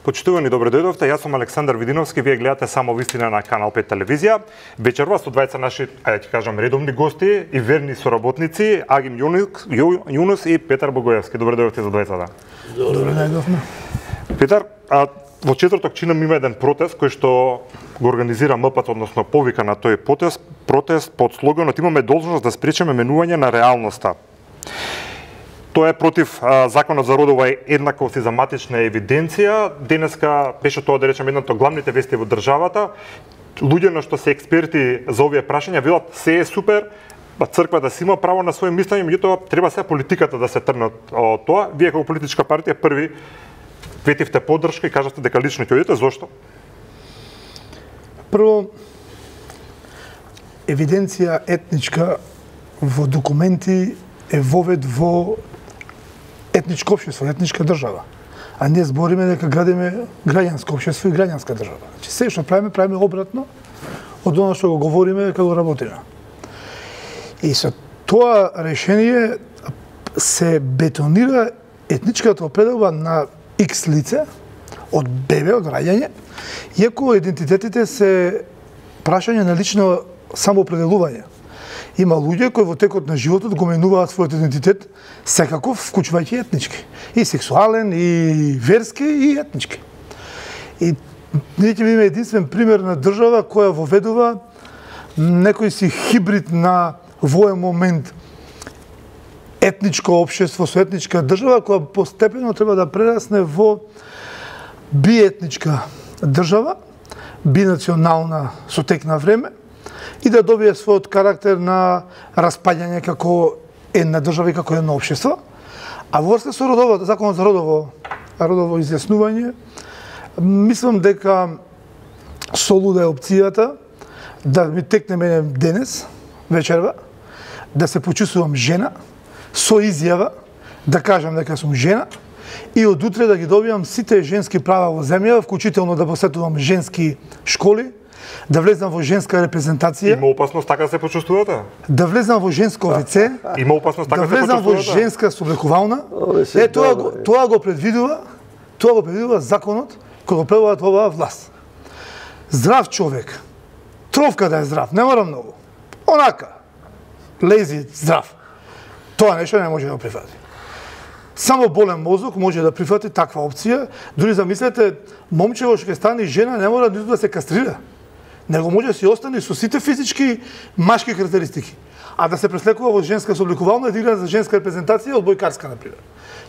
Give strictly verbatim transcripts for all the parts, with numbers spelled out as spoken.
Почитувани, добро дојдовте. Јас сум Александар Видиновски, вие гледате само вистина на Канал пет телевизија. Вечерва со двајца наши, ајде ќе кажам, редовни гости и верни соработници, Агим Јунус и Петар Богоевски. Добро дојдовте за двајцата. Добро дојдовме. Петар, а во четврток чинам има еден протест кој што го организира МПЦ, односно повика на тој протест, протест под слоганот "Имаме должност да спречиме менување на реалноста". Тоа е против а, законот за родова еднаквост и за матична евиденција. Денеска беше тоа, да речем, едната од главните вести во државата. Луѓе на што се експерти за овие прашања велат се е супер, црквата си има право на своје мислење, меѓутоа треба се политиката да се тргне од тоа. Вие како политичка партија први ветивте поддршка и кажавте дека лично ќе одите. Зошто? Прво, евиденција етничка во документи е вовед во етничко општество, етничка држава. А ние збориме дека градиме граѓанско општество и граѓанска држава. Значи се што правиме, правиме обратно од она што го говориме дека го работиме. И со тоа решение се бетонира етничката определба на X лице од бебе, од раѓање, иако идентитетите се прашање на лично самоопределување. Има луѓе кои во текот на животот го менуваат својот идентитет секако, вклучувајќи етнички. И сексуален, и верски, и етнички. И ние ќе имаме единствен пример на држава која воведува некој си хибрид на воен момент етничко општество со етничка држава, која постепено треба да прерасне во биетничка држава, бинационална со тек на време, и да добие својот карактер на распаѓање како една држава и како едно општество. А во врска со родово, законот за родово, родово изјаснување, мислам дека солуда е опцијата да ми текне мене денес, вечерва, да се почувствувам жена, со изјава, да кажам дека сум жена, и од утре да ги добивам сите женски права во земја, вклучително да посетувам женски школи, да влезам во женска репрезентација. Има опасност така да се почувствувате? Да влезам во женско веце. Има опасност така да да се влезам во почувствувате? женска соблекувална. Е, тоа го, тоа го предвидува, тоа го предвидува законот кој го предвидува оваа власт. Здрав човек, тровка да е здрав, не мора многу. Онака, лези здрав. Тоа нешто не може да го прифати. Само болен мозок може да прифати таква опција. Дури замислете, момчево што ќе стане жена не мора ниту да се кастрира. Него може да си остане со сите физички машки карактеристики, а да се преслекува во женска соблекувална и да игра за женска репрезентација одбојкарска, например.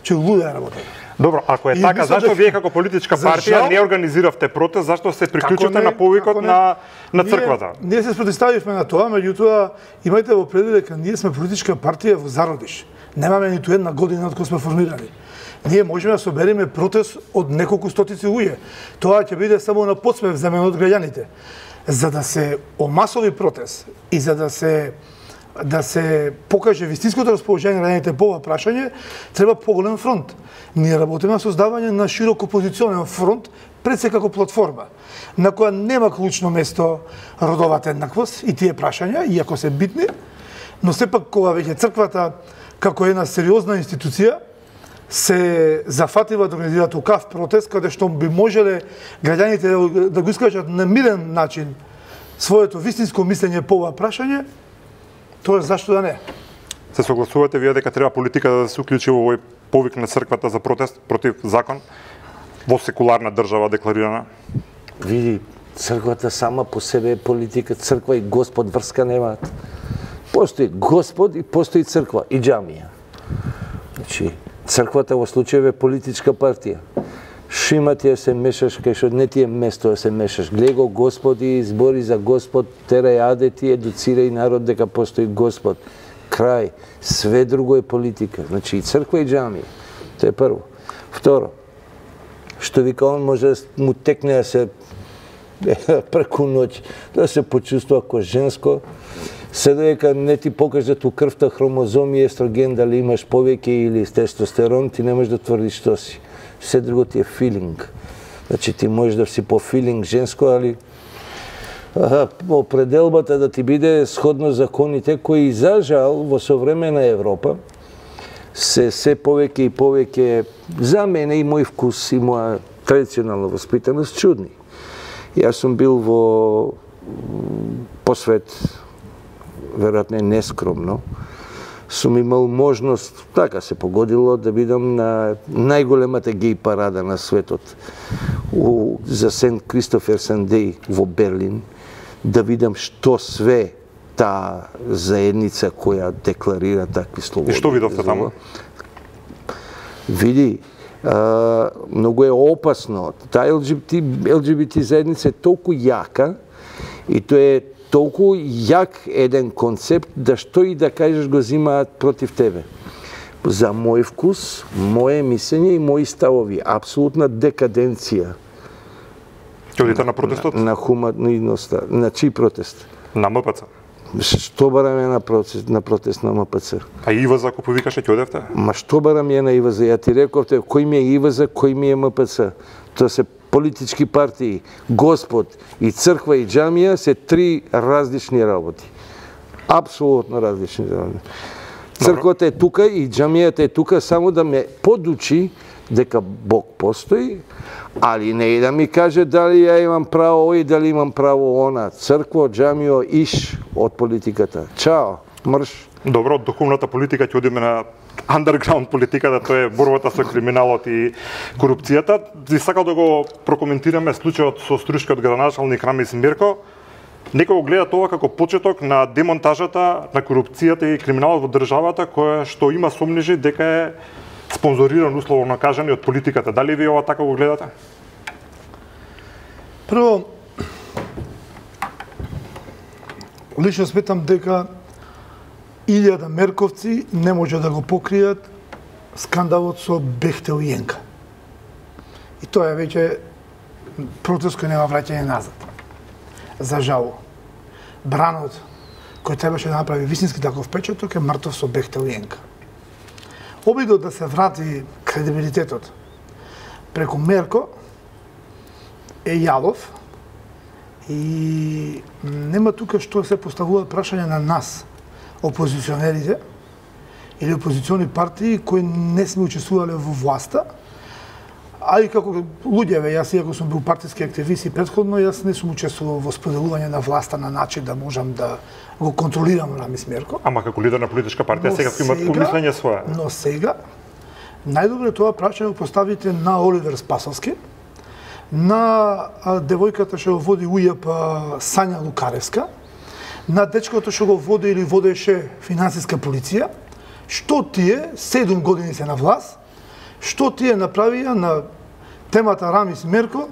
Че луда е работа. Добро, ако е И така, мислам зашто дека- вие како политичка За партија жал- не организиравте протест, зашто се приклучувате Како не, на повикот како не. на на Ние- црквата? Ние се спротивставивме на тоа, меѓутоа имајте во предвид дека ние сме политичка партија во зародиш. Немаме ниту една година од кога сме формирани. Ние можеме да собереме протест од неколку стотици луѓе. Тоа ќе биде само на подсмев земено од граѓаните. За да се омасови протест и за да се да се покаже вистинското расположение на граѓаните по ова прашање, треба поголем фронт. Ние работиме на создавање на широко позиционен фронт пред секако платформа, на која нема клучно место родовата еднаквост и тие прашања, иако се битни, но сепак кога веќе црквата како една сериозна институција се зафатива да организира такав протест, каде што би можеле граѓаните да го искажат на мирен начин своето вистинско мислење по ова прашање, тоа зашто да не. Се согласувате вие дека треба политиката да се уклучи во овој повик на црквата за протест против закон во секуларна држава декларирана? Види, црквата сама по себе е политика, црква и Господ врска немаат. Постои Господ и постои црква и џамија. Значи, црквата во случајов е политичка партија. Шима ти да се мешаш кај што не ти е место да се мешаш. Гледај го Господ и збори за Господ, терај аде ти, едуцирај народ дека постои Господ. Крај. Све друго е политика. Значи и црква и џамија. Тоа е прво. Второ, што вика он може да му текне да се преку ноќ, да се почувствува како женско, се дека не ти покажат у крвта хромозоми и естроген дали имаш повеќе или тестостерон, ти не можеш да тврдиш што си. Се друго ти е филинг. Значи ти можеш да си по филинг женско, али аха, определбата да ти биде сходно законите кои за жал во современа Европа се се повеќе и повеќе за мене и мој вкус и моја традиционална воспитаност чудни. Јас сум бил во посвет, веројатно нескромно, сум имал можност, така се погодило, да бидам на најголемата геј парада на светот у, за Сент Кристофер Сандеј во Берлин, да видам што све таа заедница која декларира такви слободи. И што видовте таму? Види, а, многу е опасно. Таа ел џи би ти, ел џи би ти заедница е толку јака и тоа е толку јак еден концепт да што и да кажеш го зимаат против тебе. За мој вкус, моje мислење и мои ставови, апсолутна декаденција. Ќе одите на протестот? На, на хуманността. На чиј протест? На М П Ц. Што бараме на протест, на протест на М П Ц? А И В З ако повикаше ќе одевте? Ма што барам ја на И В З? Ја ти рековте, кој ми е И В З, кој ми е М П Ц? Тоа се политички партии. Господ и црква и џамија се три различни работи. Апсолутно различни работи. Црквата е тука и џамијата е тука само да ме подучи дека Бог постои, али не и да ми каже дали ја имам право ој, дали имам право она. Црква, џамио, иш од политиката. Чао, мрш. Добро, од духовната политика ќе одиме на underground политиката, тоа е борбата со криминалот и корупцијата. Би сакал да го прокоментираме случајот со струшкиот градоначалник Рамис Мерко. Некој го гледа тоа како почеток на демонтажата на корупцијата и криминалот во државата, која што има сомнежи дека е спонзориран, условно кажани, од политиката. Дали ви ова така го гледате? Прво, лично сметам дека илјада мерковци не може да го покријат скандалот со Бехтел и Јенка. И тоа е веќе протест кој нема враќање назад. За жало. Бранот, кој требаше да направи вистински таков печаток, е мртов со Бехтел и Јенка. Обидот да се врати кредибилитетот преку Мерко е јалов и нема тука што се поставуваат прашања на нас, опозиционерите или опозициони партии кои не сме учествувале во власта, а и како луѓе, јас иако сум бил партиски активист и претходно, јас не сум учествувал во споделување на власта на начин да можам да го контролирам Рамис Мерко. Ама како лидер на политичка партија сега има помислење свое. Но сега најдобро е тоа прашање го поставите на Оливер Спасовски, на девојката што го води У Ј П Сања Лукаревска, на дечкото што го води или водеше финансиска полиција, што тие седум години се на власт, што тие направија на темата Рамис Мерко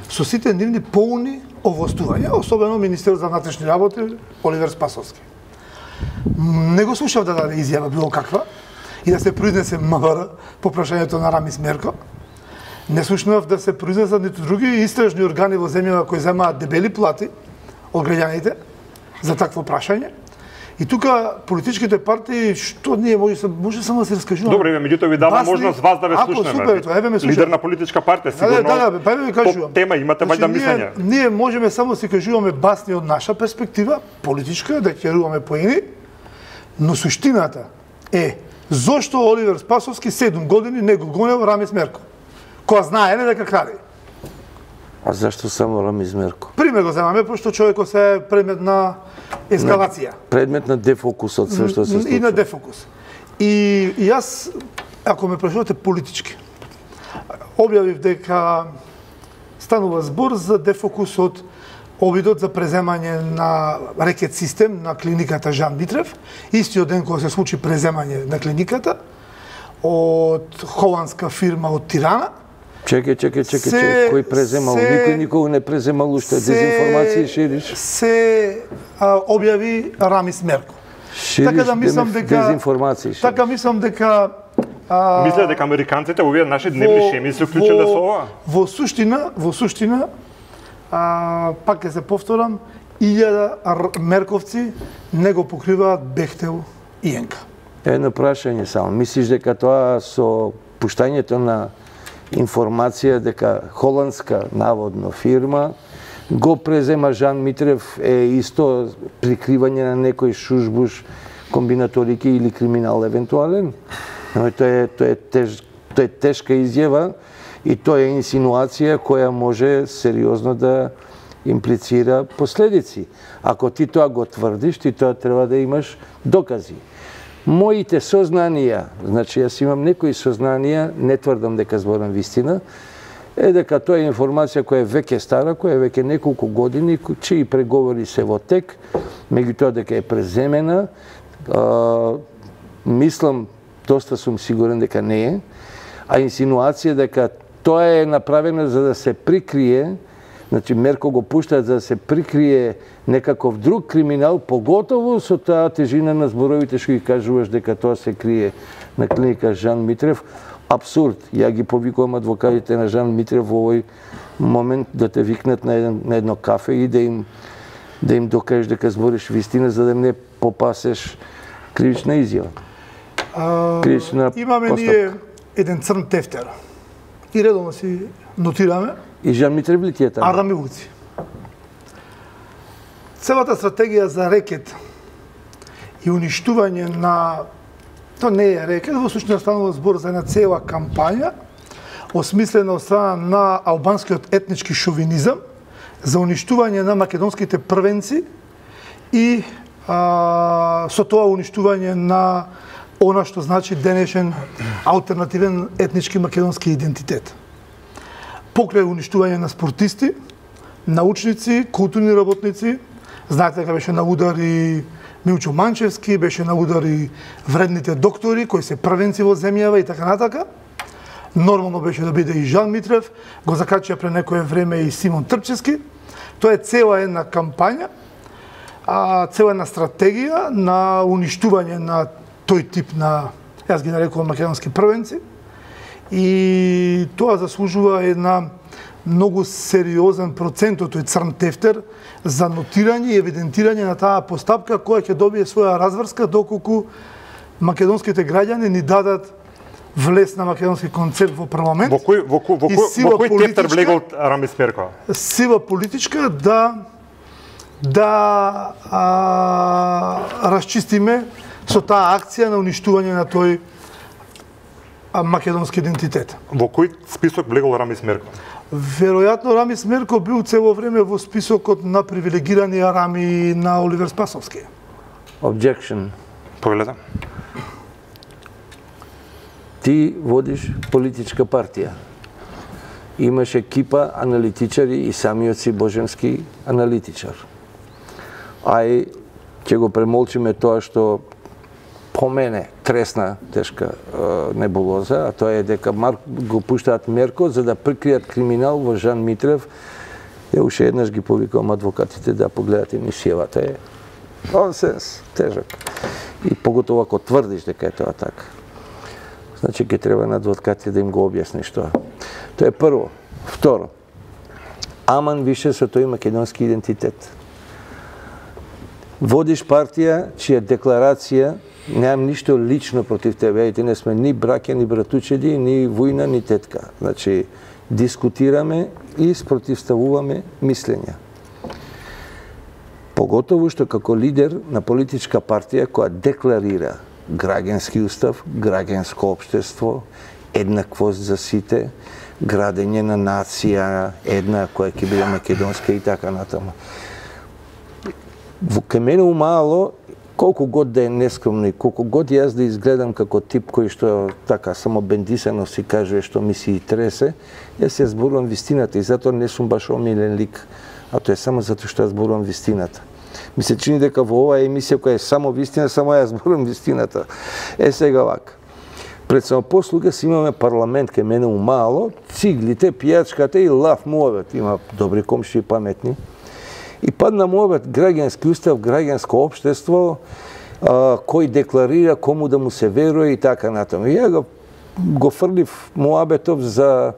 со сите нивни полни овластувања, особено Министерот за внатрешни работи Оливер Спасовски. Не го слушав да даде изјава било каква и да се произнесе М В Р по прашањето на Рамис Мерко. Не слушнав да се произнесат ниту други истражни органи во земјава кои земаат дебели плати од граѓаните за такво прашање. И тука политичките партии што ние може може само да се раскажуваме. Добре, меѓутоа ви дава можност вас да ве слушнеме. Лидер на политичка партија, сигурно. Да, да, па ви кажувам. Тема имате вајда мислење. Ние можеме само да си кажуваме басни од наша перспектива, политичка, да ќе поени, но суштината е зошто Оливер Спасовски седум години не го гонел Рамис Мерко, која знае дека краде. А зашто само Рамис Мерко? Пример го земаме, пошто човекот се предмет на ескалација. Предмет на дефокус од све што се случува. И на дефокус. И, и јас, ако ме прашувате политички, објавив дека станува збор за дефокус од обидот за преземање на рекет систем на клиниката Жан Митрев, истиот ден кога се случи преземање на клиниката од холандска фирма од Тирана. Чекај, чекај, чекај, чекај, кој преземал? Се, Никој никога не преземал уште, дезинформација шириш. Се а, објави Рамис Мерко. Шириш така да мислам дека дезинформација шириш. Така мислам дека а, мисле дека американците овие наши дневни шеми се вклучиле со ова? Во суштина, во суштина а, пак ќе се повторам, илјада мерковци не го покриваат Бехтел и Јенка. Едно прашање само. Мислиш дека тоа со пуштањето на информација дека холандска наводно фирма го презема Жан Митрев е исто прикривање на некој шушбуш комбинаторики или криминал евентуален? Но тоа е тоа е теж, тоа е тешка изјава И тоа е инсинуација која може сериозно да имплицира последици. Ако ти тоа го тврдиш, ти тоа треба да имаш докази. Моите сознанија, значи јас имам некои сознанија, не тврдам дека зборам вистина, е дека тоа е информација која е веќе стара, која е веќе неколку години, чии преговори се во тек, меѓутоа дека е преземена, а, мислам, доста сум сигурен дека не е, а инсинуација дека тоа е направено за да се прикрие, значи мерко го пуштаат за да се прикрие некаков друг криминал, поготово со таа тежина на зборовите што ги кажуваш дека тоа се крие на клиника Жан Митрев. Абсурд. Ја ги повикувам адвокатите на Жан Митрев во овој момент да те викнат на, еден, на едно кафе и да им да им докажеш дека збориш вистина за да не попасеш кривична изјава. А, кривична имаме постапка. ние еден црн тефтер. И редовно си нотираме. И Жан Митрев ли ти е таму? Арами Вуци. Целата стратегија за рекет и уништување на... Тоа не е рекет, во случај станува збор за една цела кампања, осмислена од страна на албанскиот етнички шовинизам, за уништување на македонските првенци и а, со тоа уништување на она што значи денешен алтернативен етнички македонски идентитет. Покрај уништување на спортисти, научници, културни работници, знаете дека беше на удар и Милчо Манчевски, беше на удар и вредните доктори кои се првенци во земјава и така натака. Нормално беше да биде и Жан Митрев, го закачија пред некое време и Симон Трпчевски. Тоа е цела една кампања, а цела една стратегија на уништување на тој тип на, јас ги нарекувам македонски првенци. И тоа заслужува една многу сериозен процент од тој црн тефтер за нотирање и евидентирање на таа постапка која ќе добие своја разврска доколку македонските граѓани ни дадат влез на македонски концепт во парламент. Во кој во кој во кој, во кој тефтер влегол Рамис Мерко? Сила политичка да да а, расчистиме со таа акција на уништување на тој а, македонски идентитет. Во кој список влегол Рамис Мерко? Веројатно Рамис Мерко бил цело време во списокот на привилегирани арами на Оливер Спасовски. Objection. Погледам. Ти водиш политичка партија. Имаш екипа аналитичари и самиот си божемски аналитичар. Ај, ќе го премолчиме тоа што по мене тресна тешка е, небулоза, а тоа е дека Марк го пуштаат Мерко за да прикријат криминал во Жан Митрев. Ја уште еднаш ги повикувам адвокатите да погледат емисијавата. Е нонсенс, тежак. И поготово ако тврдиш дека е тоа така. Значи ќе треба на адвокатите да им го објасниш тоа. Тоа е прво. Второ. Аман више со тој македонски идентитет. Водиш партија чија декларација немам ништо лично против тебе, и не сме ни браќа, ни братучеди, ни војна, ни тетка. Значи, дискутираме и спротивставуваме мислења. Поготово што како лидер на политичка партија која декларира граѓански устав, граѓанско општество, еднаквост за сите, градење на нација, една која ќе биде македонска и така натаму. Во кај мене умало, колку год да е нескромно и колку год јас да изгледам како тип кој што така само бендисано си кажува што ми си и тресе, јас ја зборувам вистината и затоа не сум баш омилен лик, а тоа е само затоа што ја зборувам вистината. Ми се чини дека во оваа емисија која е само вистина, само ја зборувам вистината. Е сега вака. Пред самопослуга си имаме парламент кај мене умало, циглите, пијачката и лав муавет. Има добри комши и паметни. И падна муавет граѓански устав, граѓанско општество, а, кој декларира кому да му се верува и така натаму. И ја го, го фрлив муабетов за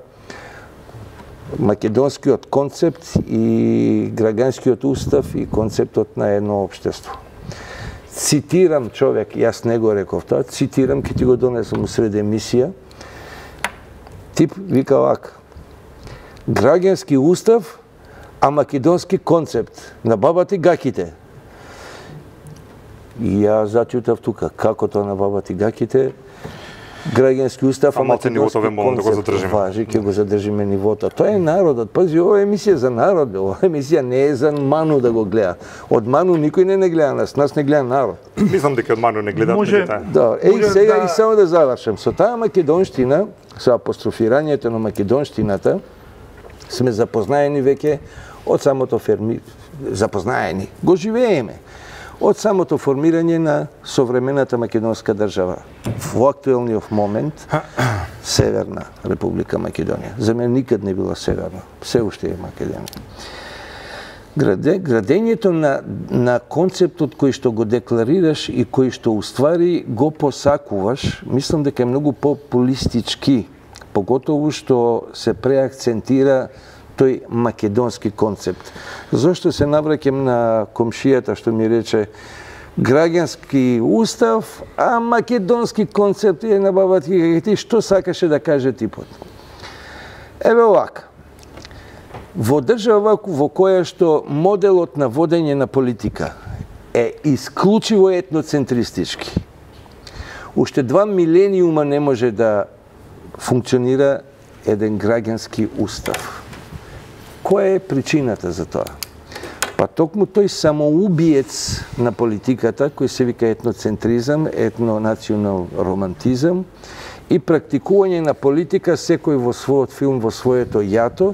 македонскиот концепт и граѓанскиот устав и концептот на едно општество. Цитирам човек, јас не го реков тоа, цитирам, ке ти го донесам усред емисија. Тип вика вака: граѓански устав, а македонски концепт на бабата и гаките. И ја зачутав тука, како тоа на бабата и гаките. граѓански устав, а македонски концепт важи, ќе го задржиме нивото. Тоа е народот. Пази, ова е емисија за народ, ова емисија не е за Ману да го гледа. Од Ману никој не не гледа нас, нас не гледа народ. Мислам дека од Ману не гледаат меѓутоа. Да, еј сега и само да завршам. Со таа македонштина, со апострофирањето на македонштината, сме запознаени веќе од самото ферми, запознаени, го живееме. Од самото формирање на современата македонска држава. Во актуелниот момент, Северна Република Македонија. За мене никад не била северна, се уште е Македонија. Граде, градењето на, на концептот кој што го декларираш и кој што уствари го посакуваш, мислам дека е многу популистички, поготово што се преакцентира тој македонски концепт. Зошто се навраќам на комшијата што ми рече граѓански устав, а македонски концепт е набават и ти што сакаше да каже типот. Еве овака. Во држава во која што моделот на водење на политика е исклучиво етноцентристички, уште два милениума не може да функционира еден граѓански устав. Која е причината за тоа? Па токму тој самоубиец на политиката, кој се вика етноцентризам, етнонационал романтизам и практикување на политика секој во својот филм, во своето јато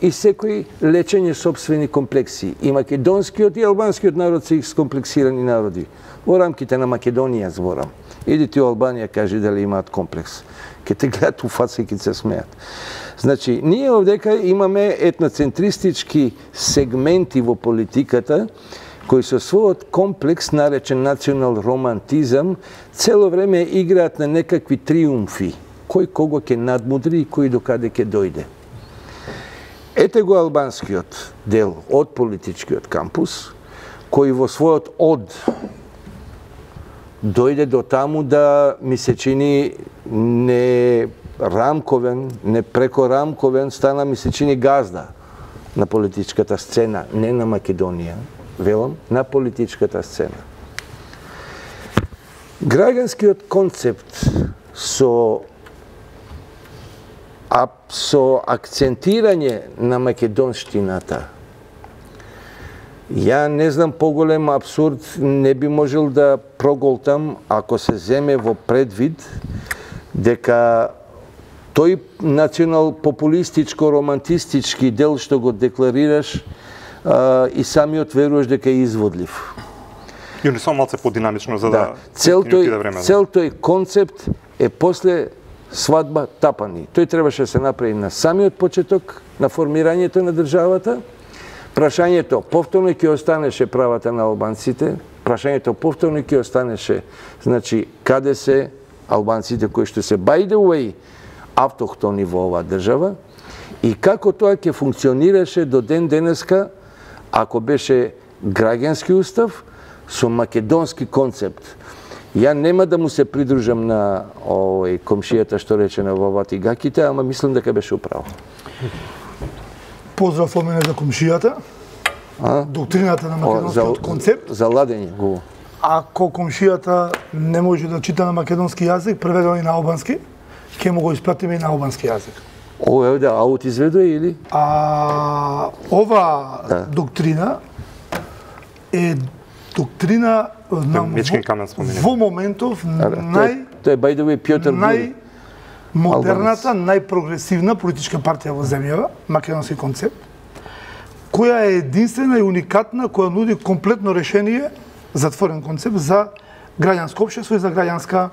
и секој лечење собствени комплекси. И македонскиот и албанскиот народ се скомплексирани народи. Во рамките на Македонија зборам. Иди ти во Албанија, кажи дали имаат комплекс. Ке те гледат у фаца и ке се смеат. Значи, ние овдека имаме етноцентристички сегменти во политиката, кои со својот комплекс, наречен национал романтизам, цело време играат на некакви триумфи. Кој кого ќе надмудри и кој докаде ќе дојде. Ете го албанскиот дел од политичкиот кампус, кој во својот од дојде до таму да ми се чини не рамковен, не преко рамковен, стана ми се чини газда на политичката сцена, не на Македонија, велам, на политичката сцена. Граѓанскиот концепт со а со акцентирање на македонштината, ја не знам поголем абсурд не би можел да проголтам ако се земе во предвид дека тој национал популистичко романтистички дел што го декларираш а, и самиот веруваш дека е изводлив. И не само малце подинамично за да, да. Цел тој, време. Цел тој концепт е после свадба тапани. Тој требаше да се направи на самиот почеток на формирањето на државата. Прашањето повторно ќе останеше правата на албанците, прашањето повторно ќе останеше, значи, каде се албанците кои што се by the way автохтони во оваа држава и како тоа ќе функционираше до ден денеска ако беше граѓански устав со македонски концепт. Ја нема да му се придружам на овој комшијата што рече на вовати гаките, ама мислам дека беше управо. Поздрав од мене за комшијата. А? Доктрината на македонскиот за, концепт. За ладење го. Ако комшијата не може да чита на македонски јазик, преведено и на албански, ќе му го испратиме и на албански јазик. О, еве да, аут изведува или? А ова да. Доктрина е доктрина на во моментов нај Тоа е by the way Пјотар нај модерната, најпрогресивна политичка партија во земјава, македонски концепт, која е единствена и уникатна, која нуди комплетно решение, затворен концепт за граѓанско општество и за граѓанска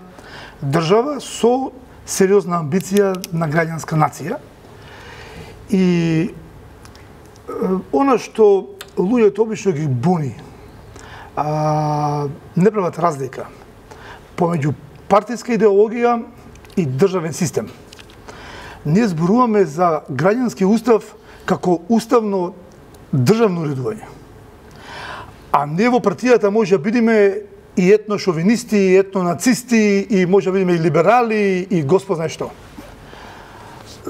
држава со сериозна амбиција на граѓанска нација. И она што луѓето обично ги буни, а, не прават разлика помеѓу партиска идеологија и државен систем. Ние зборуваме за граѓански устав како уставно државно уредување. А ние во партијата може да бидеме и етношовинисти, и етнонацисти, и може да бидеме и либерали, и господ знае што.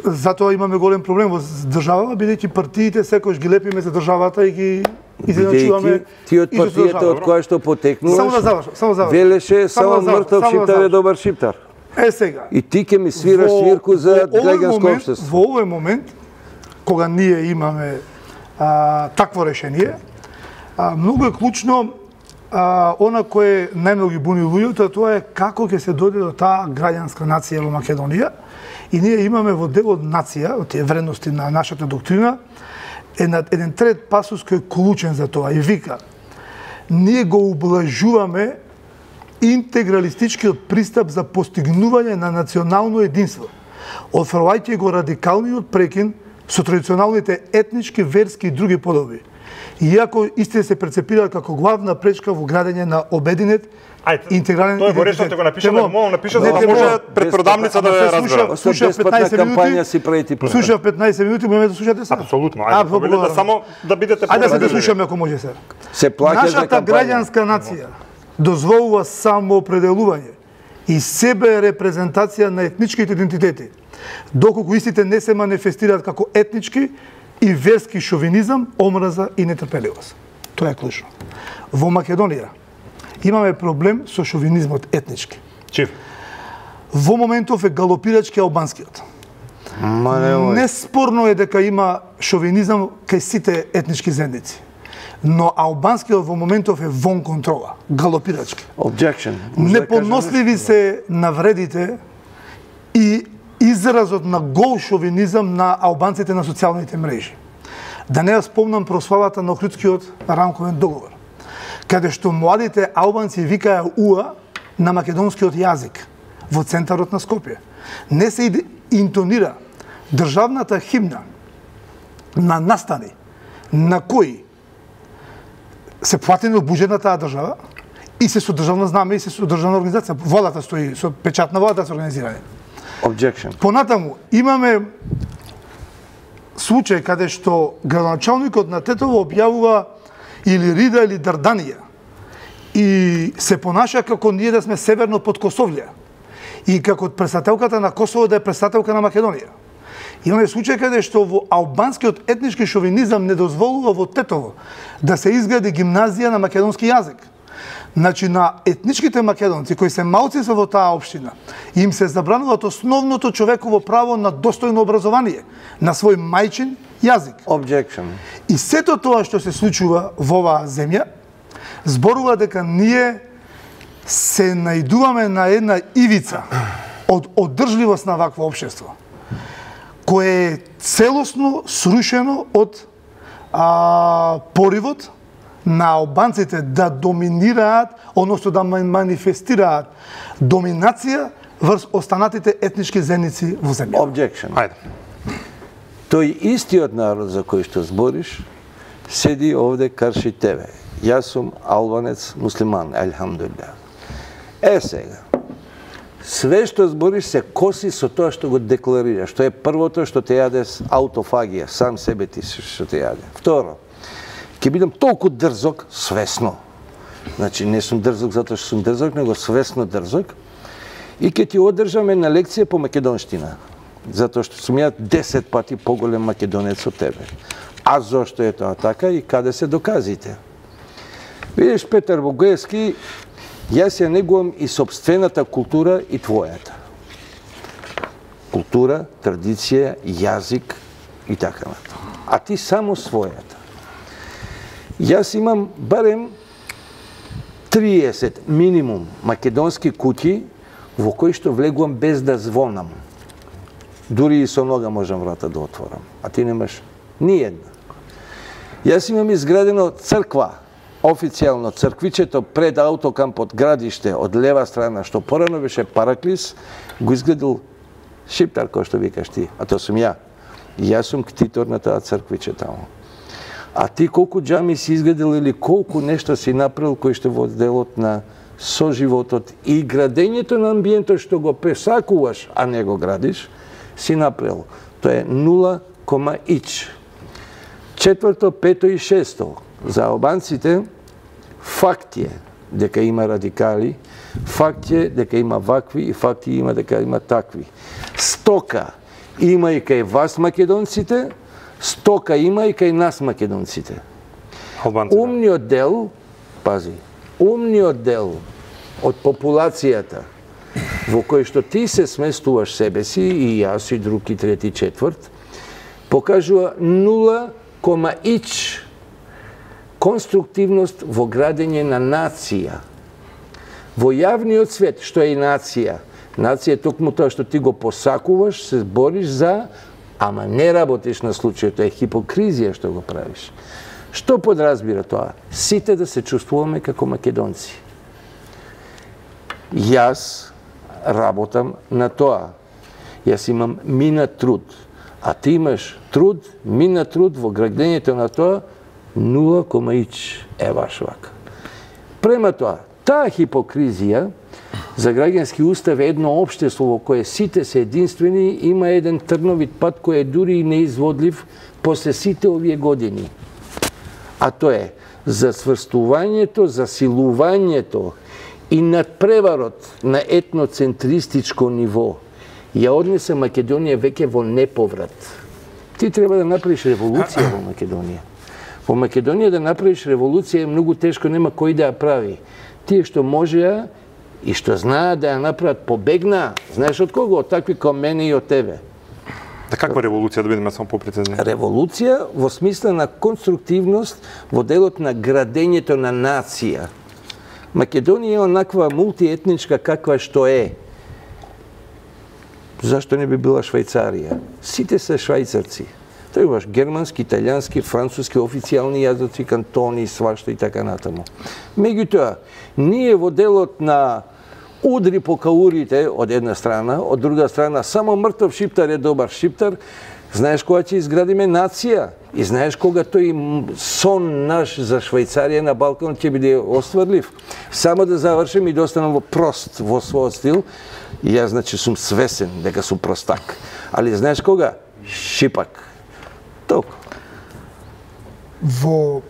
Затоа имаме голем проблем во државава, бидејќи партиите секојаш ги лепиме за државата и ги изjednačуваме. Ти од партијата од која што потекнуваш, само да завршам, само да завршам. Велеше само мртов шиптар е добар шиптар. Е сега. И ти ќе ми свираш свирку за граѓанско општество. Во овој момент, кога ние имаме а, такво решение, а, многу е клучно а, она кое најмногу ги буни луѓето, тоа е како ќе се дојде до таа граѓанска нација во Македонија. И ние имаме во делот нација, од тие вредности на нашата доктрина, еден трет пасус кој е клучен за тоа и вика: ние го ублажуваме интегралистичкиот пристап за постигнување на национално единство, отфрлајќи го радикалниот прекин со традиционалните етнички, верски и други подоби, иако истите се прецепираат како главна пречка во градење на обединет интегрален идентитет. Тоа го решавте го напишете, но мога напишете за да може пред продавница да ја разбера. Слушав петнаесет кампања си правите проект. Слушав петнаесет минути, можеме да слушате сега. Апсолутно. Ајде, да само да бидете Ајде да се слушаме ако може сега. Се плаќа за Нашата граѓанска нација дозволува самоопределување и себе репрезентација на етничките идентитети, доколку истите не се манифестираат како етнички и верски шовинизам, омраза и нетрпеливост. Тоа е клучно. Во Македонија имаме проблем со шовинизмот етнички. Чив? Во моментов е галопирачки албанскиот. Неспорно е дека има шовинизам кај сите етнички заедници. Но албанскиот во моментов е вон контрола, галопирачки. Objection. Непоносливи се навредите и изразот на гол шовинизам на албанците на социјалните мрежи. Да не ја спомнам прославата на Охридскиот рамковен договор, каде што младите албанци викаја уа на македонскиот јазик во центарот на Скопје. Не се интонира државната химна на настани на кои се платени од буџет на таа држава и се со државна знаме и се со државна организација. Владата стои, со печат на владата се организирани. Objection. Понатаму, имаме случај каде што градоначалникот на Тетово објавува или Рида или Дарданија и се понаша како ние да сме северно под Косовлија и како претставителката на Косово да е претставителка на Македонија. Имаме случај каде што во албанскиот етнички шовинизам не дозволува во Тетово да се изгради гимназија на македонски јазик. Значи, на етничките македонци кои се малцинства во таа општина, им се забрануваат основното човеково право на достојно образование, на свој мајчин јазик. Objection. И сето тоа што се случува во оваа земја, зборува дека ние се најдуваме на една ивица од одржливост на вакво општество, кое е целосно срушено од а, поривот на албанците да доминираат, односно да манифестираат доминација врз останатите етнички заедници во земја. Objection. Ајде. Тој истиот народ за кој што збориш седи овде карши тебе. Јас сум албанец муслиман, елхамдулилlah. Е сега, све што збориш се коси со тоа што го декларираш. Што е првото што те јаде аутофагија, сам себе ти што те јаде. Второ, ќе бидам толку дрзок, свесно. Значи, не сум дрзок затоа што сум дрзок, него свесно дрзок. И ќе ти одржам една лекција по македонштина. Затоа што сум ја десет пати поголем македонец од тебе. А зошто е тоа така и каде се доказите? Видиш, Петар Богоевски, јас ја негувам и собствената култура и твојата. Култура, традиција, јазик и така натаму. А ти само својата. Јас имам барем триесет минимум македонски куќи во кои што влегувам без да звонам. Дури и со нога можам врата да отворам. А ти немаш ни една. Јас имам изградено црква, официјално црквичето пред аутокампот Градиште од лева страна, што порано беше Параклис, го изградил шиптар, кој што викаш ти, а тоа сум ја. И јас сум ктитор на таа црквиче таму. А ти колку џами си изградил или колку нешто си направил кој што во делот на соживотот и градењето на амбиентот што го пресакуваш, а не го градиш, си направил. Тоа е нула кома ич. Четврто, пето и шесто. За албанците факт е дека има радикали, факт е дека има вакви и факт има дека има такви. Стока има и кај вас македонците, стока има и кај нас македонците. Албанците. Умниот дел, пази, умниот дел од популацијата во кој што ти се сместуваш себе си, и јас, и друг, и трети, четврт, покажува нула кома ич конструктивност во градење на нација. Во јавниот свет, што е и нација, нација е токму тоа што ти го посакуваш, се бориш за, ама не работиш на случај, тоа е хипокризија што го правиш. Што подразбира тоа? Сите да се чувствуваме како македонци. Јас работам на тоа. Јас имам минат труд, а ти имаш труд, минат труд во градењето на тоа, нула кома ич е баш вака. Према тоа, таа хипокризија за граѓански устав е едно општество во кое сите се единствени, има еден трновит пат кој е дури и неизводлив после сите овие години. А тоа е засврстувањето, засилувањето и надпреварот на етноцентристичко ниво ја однесе Македонија веќе во неповрат. Ти треба да направиш револуција во Македонија. Во Македонија да направиш револуција е многу тешко, нема кој да ја прави. Тие што можеа и што знаат да ја направат, побегнаа. Знаеш од кого? Од такви како мене и од тебе. Да каква револуција, да бидеме само попрецизни? Револуција во смисла на конструктивност во делот на градењето на нација. Македонија е онаква мултиетничка каква што е. Зашто не би била Швајцарија? Сите се швајцарци. Требаш германски, италијански, француски, официјални јазици, кантони, свашта и така натаму. Меѓутоа, ние во делот на удри по каурите од една страна, од друга страна само мртов шиптар е добар шиптар, знаеш кога ќе изградиме нација и знаеш кога тој сон наш за Швајцарија на Балкан ќе биде остварлив. Само да завршим и да останам во прост во својот стил, и јас значи сум свесен дека сум простак. Али знаеш кога? Шипак. Толку. Во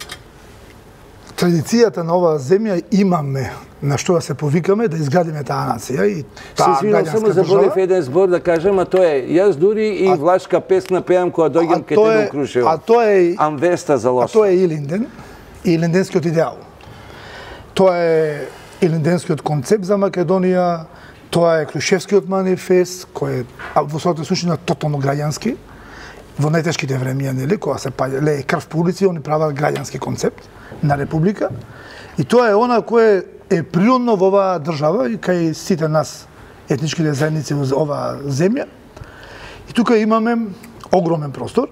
традицијата на оваа земја имаме на што да се повикаме да изградиме таа нација и таа граѓанска само заборев еден збор да кажам, а тоа е, јас дури и влашка песна пеам кога дојдам ке тебе во Крушево. А тоа е Амвеста за лошо. А тоа е Илинден и Илинденскиот идеал. Тоа е Илинденскиот концепт за Македонија, тоа е Крушевскиот манифест кој е во својата суштина тотално граѓански. Во најтешките времиња, нели, кога се лее крв по улици, они прават граѓански концепт на република. И тоа е она кое е природно во оваа држава и кај сите нас етничките заедници во оваа земја. И тука имаме огромен простор,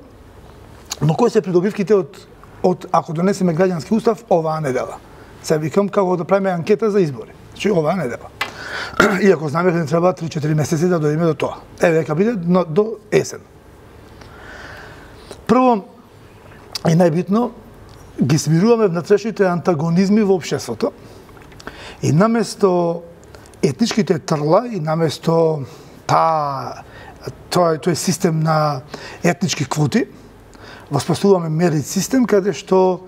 но кои се придобивките од од ако донесеме граѓански устав оваа недела. Се викам како да правиме анкета за избори. Значи оваа недела. Иако знаме дека ни треба три-четири месеци да дојдеме до тоа. Еве дека биде до есен. Прво и најбитно ги смируваме внатрешните антагонизми во општеството и наместо етничките трла и наместо таа тој тој систем на етнички квоти воспоставуваме мерит систем каде што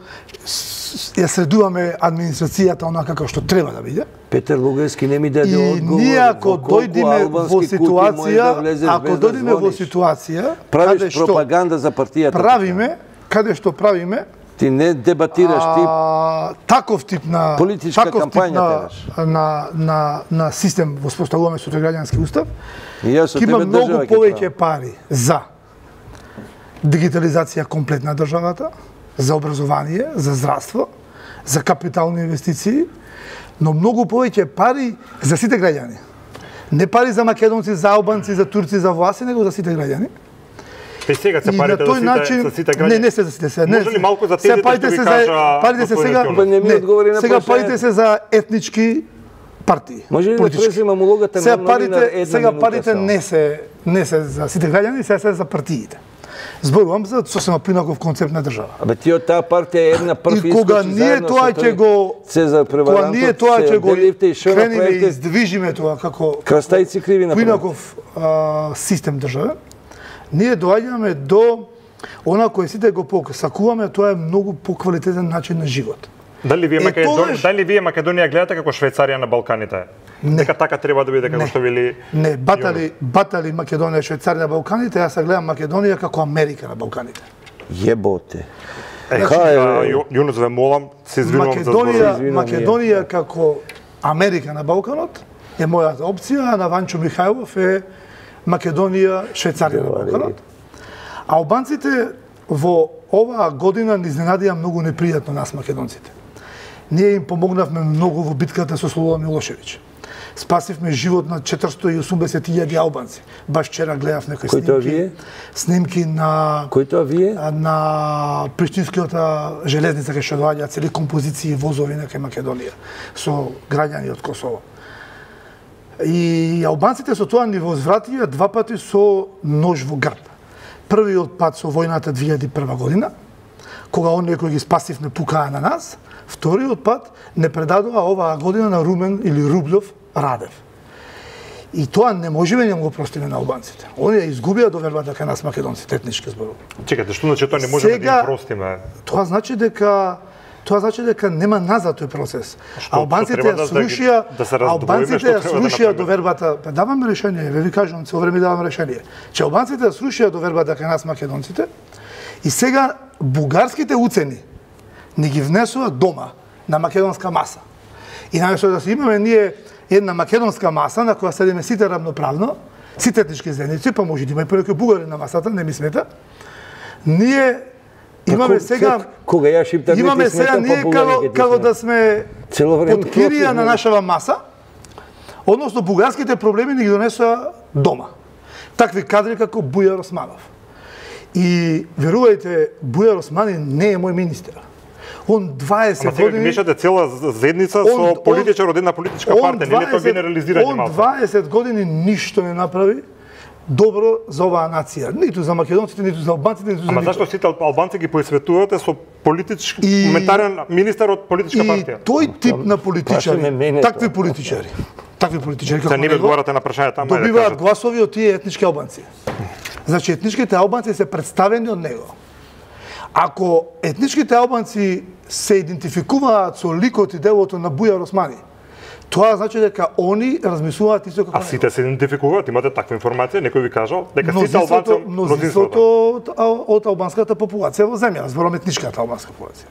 ја средуваме администрацијата онака како што треба да биде. Петар Лугарски не ми даде и одговор. И ние ако дојдеме во ситуација, да ако дојдеме во ситуација, правиш пропаганда за партијата. Правиме, каде што правиме, ти не дебатираш, ти а, таков тип на политичка таков кампања тип на, на, на, на систем воспоставуваме со тој граѓански устав. Ќе има многу повеќе пари за дигитализација комплетна државата, за образование, за здравство, за капитални инвестиции, но многу повеќе пари за сите граѓани. Не пари за македонци, за албанци, за турци, за власти, него за сите граѓани. Те сега се парите за сите, начин, за сите граѓани? Не, не се за сите. Не, може ли малку за тези парите што ви се кажа... За, парите се сега, не ми одговори на сега парите се за етнички партии. Може ли да преземам улогата на новинар една сега парите не се не се за сите граѓани, се се за партиите. Зборувам за сосема принаков концепт на држава. Абе ти од таа партија една прв и кога ние тоа ќе го Цезар Преварантов, кога ние тоа ќе го крениле и издвижиме тоа како крстајци криви на принаков систем држава, ние доаѓаме до она кој сите го посакуваме, тоа е многу поквалитетен начин на живот. Дали вие Македонија, дали вие Македонија гледате како Швајцарија на Балканите? Дека така треба да биде како што вели. Не, батали, батали Македонија, Швајцарија на Балканите, јас гледам Македонија како Америка на Балканите. Јеботе. Јунус, ве молам, се извинувам за зборот. Македонија како Америка на Балканот е мојата опција, а на Ванчо Михајлов е Македонија, Швајцарија на Балканот. А албанците во оваа година ни изненадија многу непријатно нас македонците. Ние им помогнавме многу во битката со Слободан Милошевиќ. Спасивме живот на четиристотини и осумдесет илјади албанци. Баш вчера гледав некои снимки. Снимки на Кој тоа вие? На Приштинската железница кај што доаѓаат цели композиции возови на кај Македонија со граѓани од Косово. И албанците со тоа ни возвратија два пати со нож во грб. Првиот пат со војната две илјади и прва година, кога оние кои ги спасивме пукаа на нас. Вториот пат не предадоа оваа година на Румен или Рублев Радев. И тоа не можеме да го простиме на албанците. Оние изгубија довербата кај нас македонците, етнички зборува. Чекате, што значи тоа не можеме Сега, да им простиме? Тоа значи дека тоа значи дека нема назад тој процес. Што, албанците што ја да, срушија, да се албанците ја срушија довербата. Па даваме решение, ве ви кажувам, цело време давам решение. Че албанците ја срушија довербата кај нас македонците и сега бугарските уцени ни ги внесува дома на македонска маса. И наместо да се имаме ние една македонска маса на која седиме сите равноправно, сите етнички заедници, па може да има и понекој бугари на масата, не ми смета. Ние имаме сега кога ја шиптам имаме сега ние како како да сме под кирија на нашава маса, односно бугарските проблеми ни ги донесоа дома. Такви кадри како Бујар Османов. И верувајте, Бујар Османи не е мој министер. Он дваесет години... Ама сега мешате цела заедница со политичар од една политичка партија, нели тоа генерализирање малку? Он дваесет години ништо не направи добро за оваа нација. Ниту за македонците, ниту за албанците, ниту за Ама никој. зашто сите албанци ги поисветувате со политички И- моментарен министер од политичка И партија? тој тип на Прашаме политичари, мене такви тоа. политичари, такви политичари како Се не ви него, одговарате на прашањата, ама да добиваат кажете. гласови од тие етнички албанци. Значи, етничките албанци се представени од него. Ако етничките албанци се идентификуваат со ликот и делото на Бујар Османи, тоа значи дека они размислуваат исто како А сите се идентификуваат, имате таква информација, некој ви кажал дека сите мнозинството, албанци мнозинството од, од албанската популација во земја, зборам етничката албанска популација.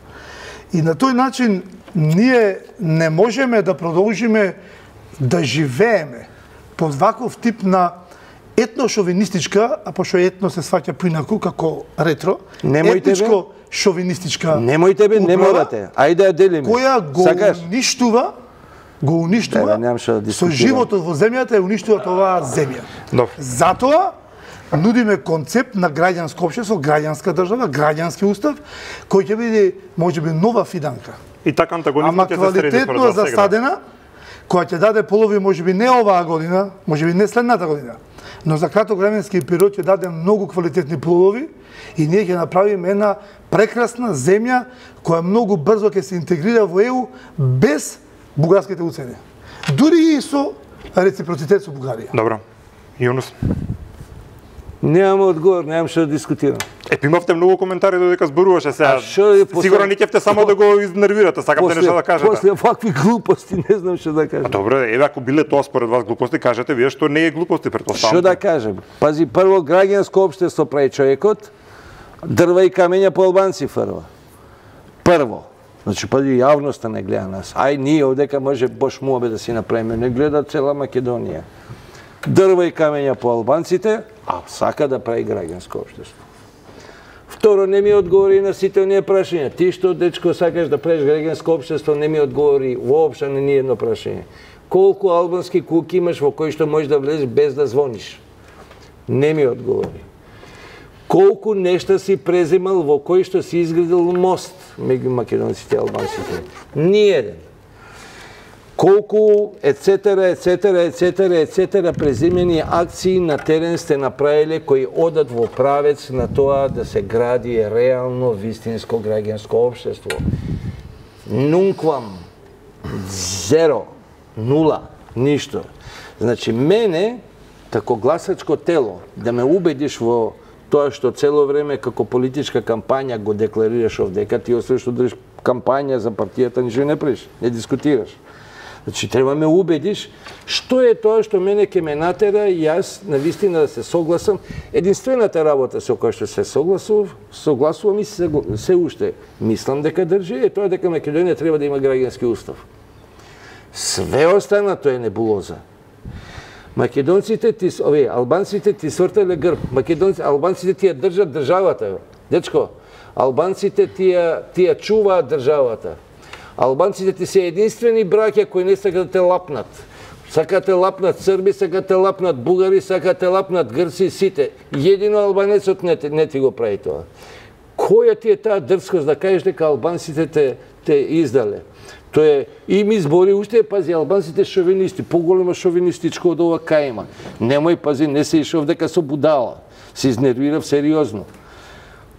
И на тој начин ние не можеме да продолжиме да живееме под ваков тип на етношовинистичка, а пошто етно се сваќа поинаку како ретро, Немојте, бе. етничко-шовинистичка Немојте бе, не управа, морате. Ајде да ја делиме. која го Сакаш? уништува го уништува, Еве, немам што да со дискутирам. животот во земјата и уништува оваа земја. Добро. Затоа нудиме концепт на граѓанско општество, граѓанска држава, граѓански устав, кој ќе биде можеби нова фиданка. И така Ама антагонизмот ќе се среди според квалитетно вас сега. засадена, која ќе даде полови можеби не оваа година, можеби не следната година, но за краток временски период ќе даде многу квалитетни плодови и ние ќе направиме една прекрасна земја која многу брзо ќе се интегрира во Е У без бугарските уцени. Дури и со реципроцитет со Бугарија. Добро. Јунус. Немам одговор, немам што да дискутирам. Е, имавте многу коментари додека зборуваше сега. А што е после- Сигурно не ќевте само да го изнервирате, сакавте нешто да кажете. После вакви глупости не знам што да кажам. Добре, еве ако биле тоа според вас глупости, кажете вие што не е глупости, претпоставам. Што да кажем? Пази, прво граѓанско општество прави човекот, дрва и камења по албанци фрва. Прво. Значи, пази, јавноста не гледа нас. Ај, ние овдека може бош муабе да си направиме, не гледа цела Македонија. Дрва и камења по албанците, а сака да прави граѓанско општество. Второ, не ми одговори на сите оние прашања. Ти што, дечко, сакаш да правиш граѓанско општество, не ми одговори воопшто на ни едно прашање. Колку албански куќи имаш во кои што можеш да влезеш без да звониш? Не ми одговори. Колку нешта си преземал во кои што си изградил мост меѓу македонците и албанците? Ниеден. Колку ецетера, ецетера, ецетера, ецетера преземени акции на терен сте направиле кои одат во правец на тоа да се гради реално вистинско граѓанско општество? Нунквам. Зеро. Нула. Ништо. Значи, мене, како гласачко тело, да ме убедиш во тоа што цело време како политичка кампања го декларираш овдека, ти освен што држиш кампања за партијата, ништо не правиш, не дискутираш. Значи, треба ме убедиш што е тоа што мене ке ме натера и јас на вистина да се согласам. Единствената работа со која што се согласував, согласувам и се, се уште мислам дека држи е тоа дека Македонија треба да има граѓански устав. Све останато е небулоза. Македонците ти, овие, албанците ти свртале грб. Македонците, албанците ти ја држат државата. Дечко, албанците ти ја, ти ја чуваат државата. Албанците ти се единствени браќа кои не сакат да те лапнат. Сакат те лапнат срби, сакат те лапнат бугари, сакат те лапнат грци, сите. Едино албанецот не, не ти го прави тоа. Која ти е таа дрскост да кажеш дека албанците те, те издале? Тоа е, и ми збори уште, пази, албанците шовинисти, поголема шовинистичко од ова кај има. Немој, пази, не се ишов дека со будала. Се изнервирав сериозно.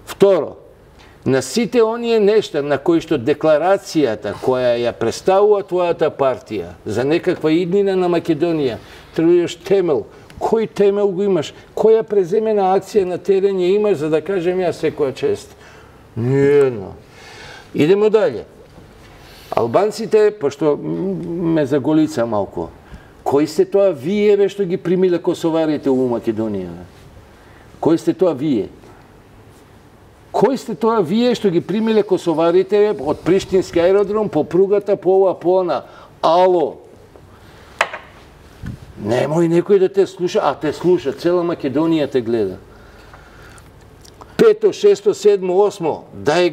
Второ, на сите оние нешта на кои што декларацијата која ја представува твојата партија за некаква иднина на Македонија, требаш темел. Кој темел го имаш? Која преземена акција на терен ја имаш за да кажем јас секоја чест? Ниедно. Идемо далje. Албанците, пошто ме заголица малку, кои сте тоа вие бе што ги примиле косоварите у Македонија? Кои сте тоа вие? Кои сте тоа вие што ги примиле косоварите од Приштински аеродром по пругата по ова по она? Ало! Немој некој да те слуша, а те слуша, цела Македонија те гледа. Пето, шесто, седмо, осмо, дај,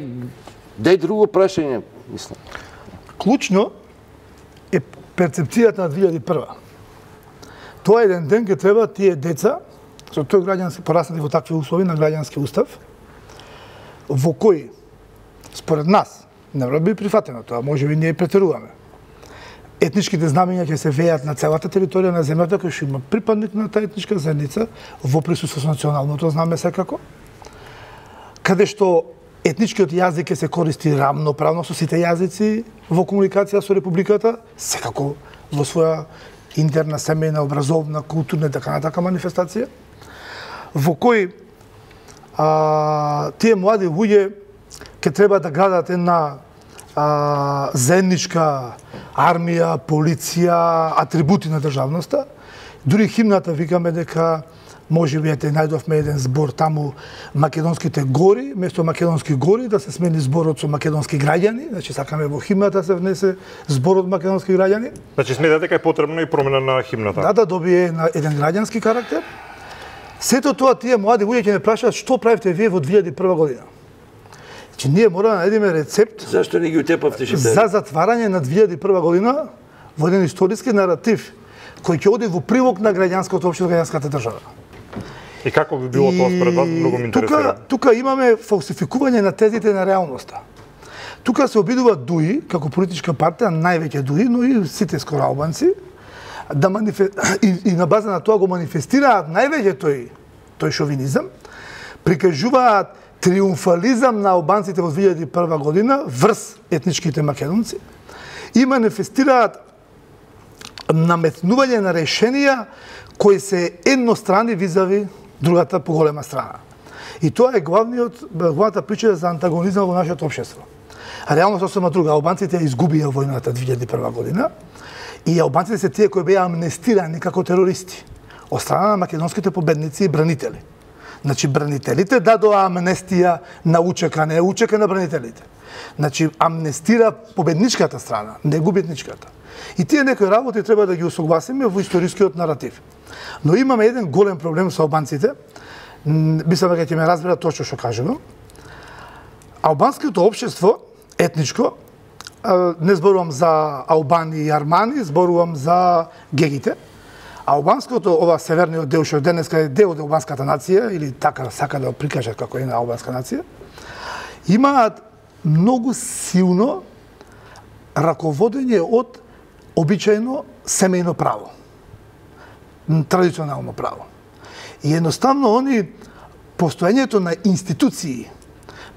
дај друго прашање, мислам. Клучно е перцепцијата на две илјади и прва. Тоа еден ден ќе треба тие деца, со тој граѓански пораснати во такви услови на граѓански устав, во кој, според нас, не би прифатено тоа, може би ние претеруваме. Етничките знамења ќе се веат на целата територија на земјата, кој што има припадник на таа етничка заедница, во присуство со националното знаме секако, каде што етничкиот јазик ќе се користи рамноправно со сите јазици во комуникација со Републиката, секако во своја интерна, семејна, образовна, културна и така натака манифестација, во кој а, тие млади луѓе ќе треба да градат една а, заедничка армија, полиција, атрибути на државноста. Дури химната викаме дека може би ете најдовме еден збор таму македонските гори, место македонски гори да се смени зборот со македонски граѓани, значи сакаме во химната се внесе зборот македонски граѓани. Значи сметате дека е потребно и промена на химната. Да, да добие на еден граѓански карактер. Сето тоа тие млади луѓе ќе ме прашаат што правите вие во две илјади и прва година. Значи ние мора да најдеме рецепт. Зашто не ги утепавте шиптерите? За затварање на две илјади и прва година во еден историски наратив кој ќе оди во прилог на граѓанското општество, граѓанската држава. И како би било тоа според вас, многу ме интересира. Тука, тука имаме фалсификување на тезите на реалноста. Тука се обидува ДУИ, како политичка партија, највеќе ДУИ, но и сите скоро албанци, да манифе... и, и на база на тоа го манифестираат највеќе тој, тој шовинизам, прикажуваат триумфализам на албанците во две илјади и прва година врз етничките македонци и манифестираат наметнување на решенија кои се еднострани визави другата поголема страна. И тоа е главниот, главната причина за антагонизам во нашето општество. Реално сосема друга. Албанците изгубија војната две илјади и прва година и албанците се тие кои беа амнестирани како терористи од страна на македонските победници и бранители. Значи, бранителите дадоа амнестија на УЧК, не УЧК на бранителите. Значи, амнестира победничката страна, не губитничката. И тие некои работи треба да ги усогласиме во историскиот наратив. Но имаме еден голем проблем со албанците, мислам дека ќе ме разберат точно што кажувам. Албанското општество, етничко, не зборувам за албани и армани, зборувам за гегите. Албанското, ова северниот дел што денеска е дел од албанската нација, или така сака да го прикажат како една албанска нација, имаат многу силно раководење од обичајно семејно право, традиционално право. И едноставно они постоењето на институции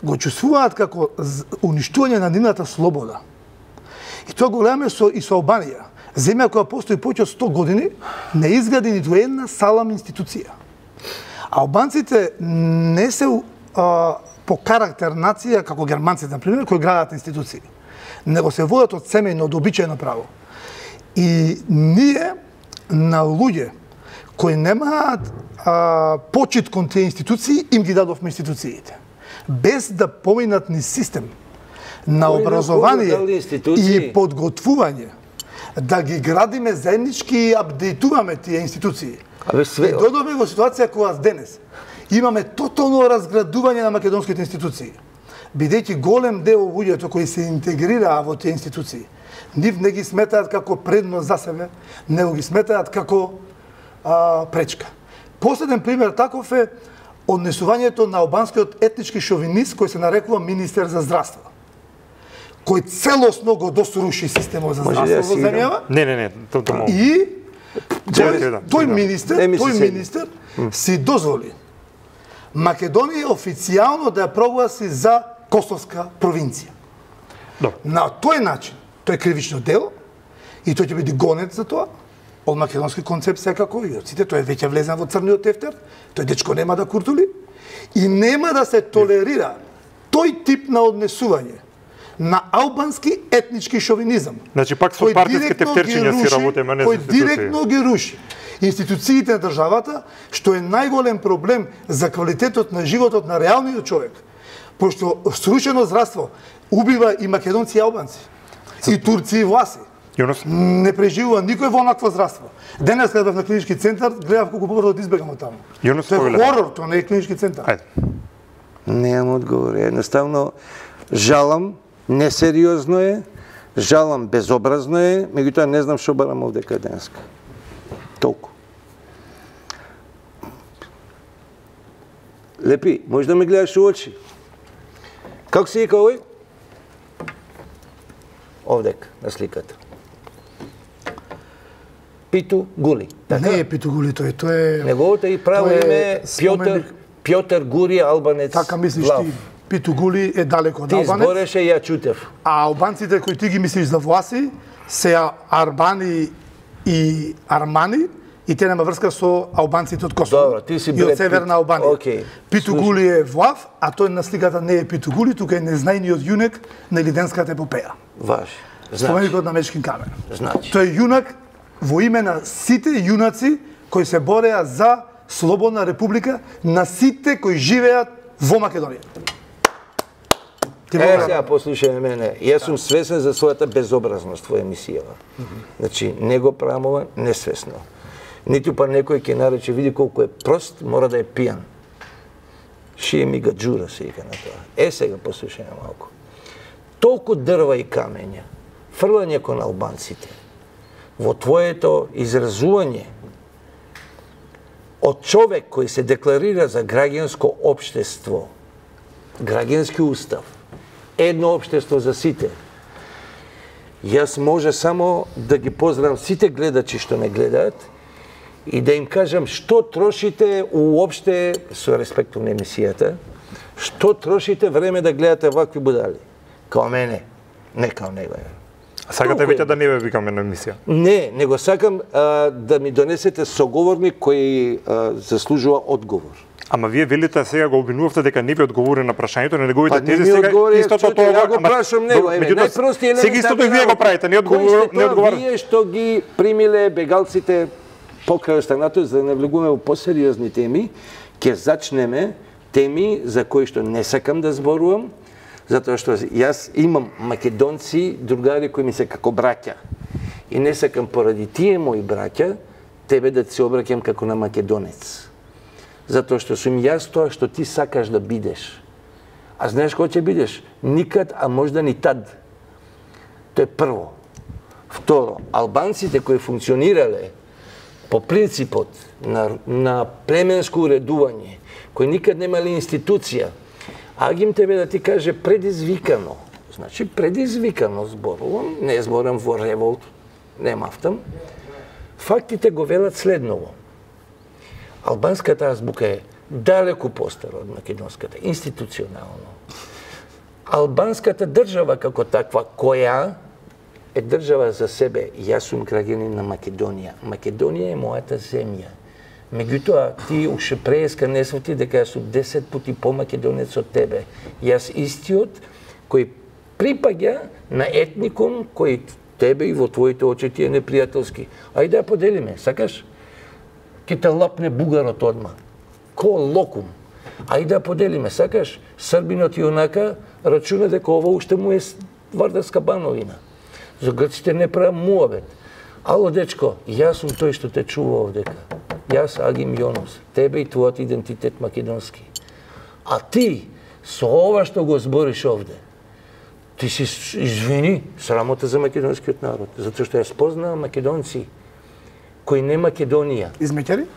го чувствуваат како уништување на нивната слобода. И тоа го гледаме со, и со Албанија. Земја која постои повеќе од сто години, не изгради ниту една салам институција. Албанците не се а, по карактер нација, како германците, например, кои градат институции, него се водат од семејно, од обичајно право. И ние, на луѓе кои немаат а, почит кон тие институции, им ги дадовме институциите. Без да поминат ни систем на образование и подготвување да ги градиме заеднички и апдейтуваме тие институции. Абе све. И додоме во ситуација кога денес имаме тотално разградување на македонските институции. Бидејќи голем дел од луѓето кои се интегрираа во тие институции, нив не ги сметаат како предност за себе, него ги сметаат како а, пречка. Последен пример таков е однесувањето на албанскиот етнички шовинист кој се нарекува министер за здравство, кој целосно го досруши системот за здравство во земјава. Не, не, не, тоа тоа. И тој, тој министер, тој министер си дозволи Македонија официјално да ја прогласи за косовска провинција. Добро. На тој начин, тој е кривично дело и тој ќе биде гонет за тоа од македонски концепт секако и од сите, тој е веќе влезен во црниот тефтер, тој дечко нема да куртули и нема да се толерира тој тип на однесување на албански етнички шовинизам. Значи пак со партиски тефтерчиња си работиме, не со кој институции. директно ги руши институциите на државата, што е најголем проблем за квалитетот на животот на реалниот човек. Пошто срушено здравство убива и македонци и албанци, и турци и власи. Јонос? Не преживува никој во онакво здравство. Денес кога бев на клинички центар, гледав колку побрзо да избегам од таму. Јонос, Тоа е повелете. хорор, тоа не е клинички центар. Ајде. Немам одговор. Едноставно жалам, несериозно е, жалам, безобразно е, меѓутоа не знам што барам овдека денеска. Толку. Лепи, може да ме гледаш у очи. Како се вика овој? Овдека, на сликата. Питу Гули. Така? Не е Питу Гули тој, тој е... Неговото и право тој е име Пјотр, споменик. Пјотр Гури, албанец. Така мислиш Влав. ти, Питу Гули е далеко од Ти албанец. збореше и ја чутев. А албанците кои ти ги мислиш за власи, се Арбани и Армани, и те нема врска со албанците од Косово. Добро, ти си и Бред од Северна Пит. Албанија. Океј. Питу Слушай. Гули е Влав, а тој на сликата не е Питу Гули, тука е незнајниот јунак на Лиденската епопеја. Важи. Значи, Споменикот на Мечкин камен. значи. Тој е јунак во име на сите јунаци кои се бореа за слободна република, на сите кои живеат во Македонија. Ти Е, благодарам. сега послушај мене. Јас сум свесен за својата безобразност во емисијава. Значи, не го правам ова несвесно. Ниту па некој ќе нарече, види колку е прост, мора да е пијан. Шие ми гаджура се вика на тоа. Е, сега послушај малку. Толку дрва и камења, фрлање кон албанците, во твоето изразување од човек кој се декларира за граѓанско општество, граѓански устав, едно општество за сите. Јас може само да ги поздравам сите гледачи што не гледаат и да им кажам што трошите уопште, со респект на емисијата, што трошите време да гледате вакви будали. Као мене, не као него. Сакате Толку е. веќе да не ве викаме на емисија. Не, него сакам а, да ми донесете соговорник кој а, заслужува одговор. Ама вие велите сега го обвинувавте дека не ви одговори на прашањето, не неговите Па не тези ми сега одговори, истото чуте, тоа. ја го ама- прашам него, добро, еве, меѓутоа, најпрости елементарни сега истото и вие го правите, не Кои одговор, сте не тоа одговарате. Вие што ги примиле бегалците покрај останато, за да не влегуваме во посериозни теми, ќе зачнеме теми за кои што не сакам да зборувам, затоа што јас имам македонци, другари кои ми се како браќа. И не сакам поради тие мои браќа, тебе да ти се обраќам како на македонец. Затоа што сум јас тоа што ти сакаш да бидеш. А знаеш кој ќе бидеш? Никад, а можда ни тад. Тоа е прво. Второ, албанците кои функционирале по принципот на, на племенско уредување, кои никад немале институција, Агим тебе да ти каже предизвикано, значи предизвикано зборувам, не зборам во револт, не мафтам, фактите го велат следново. Албанската азбука е далеку постара од македонската, институционално. Албанската држава како таква, која е држава за себе, јас сум граѓанин на Македонија. Македонија е мојата земја. Меѓутоа, ти уште преска не свати дека јас сум десет пати по-македонец од тебе. Јас истиот кој припаѓа на етникум кој тебе и во твоите очи ти е непријателски. Ајде да поделиме, сакаш? Ке те лапне бугарот одма. Ко локум. Ајде да поделиме, сакаш? Србинот и онака рачуна дека ова уште му е Вардарска бановина. За грците не правам муабет. Ало, дечко, јас сум тој што те чува овдека. Јас Агим Јонус, тебе и твојот идентитет македонски. А ти, со ова што го збориш овде, ти си, извини, срамота за македонскиот народ, затоа што јас познавам македонци кои не Македонија. Измеќари?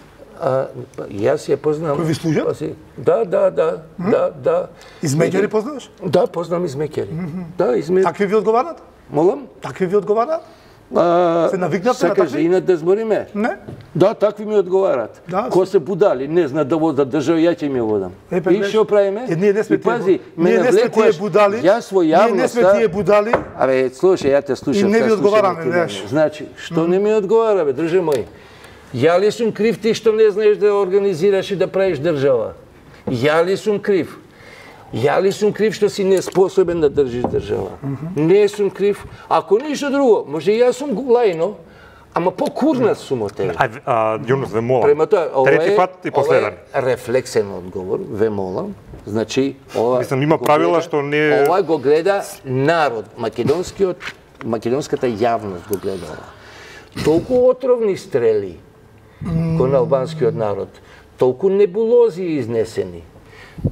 А, јас ја познавам. Кои ви служат? Да, да, да, да, да. Измеќари познаваш? Да, познавам измеќари. Да, измеќари. Такви ви одговарат? Молам? Такви ви одговарат? А, се навикнавте на сакаш такви? инат да збориме? Не. Да, такви ми одговарат. Да, Ко се будали, не знаат да водат држава, ја ќе ми ја водам. Е, па, и што правиме? Е, ние не сме и пази, тие, ме ние не сме навлекуваш, тие будали. Јас во Ние не сме јавноста. тие будали. Абе, слушај, ја те слушам. И не сега ви слушам одговараме, ти мене. знаеш. Значи, што не ми одговара, бе, држе мој? Ја ли сум крив ти што не знаеш да организираш и да правиш држава? Ја ли сум крив? Ја ли сум крив што си неспособен да држиш држава? Не сум крив. Ако ништо друго, може и јас сум лајно, ама по-курнат сум од тебе. Ај, а, Јунус, ве молам. Према тоа, ова Трети е, пат и последен. ова е рефлексен одговор, ве молам. Значи, ова Мислам, има го правила гледа- што не- Ова го гледа народ, македонскиот, македонската јавност го гледа ова. Толку отровни стрели кон албанскиот народ, толку небулози изнесени,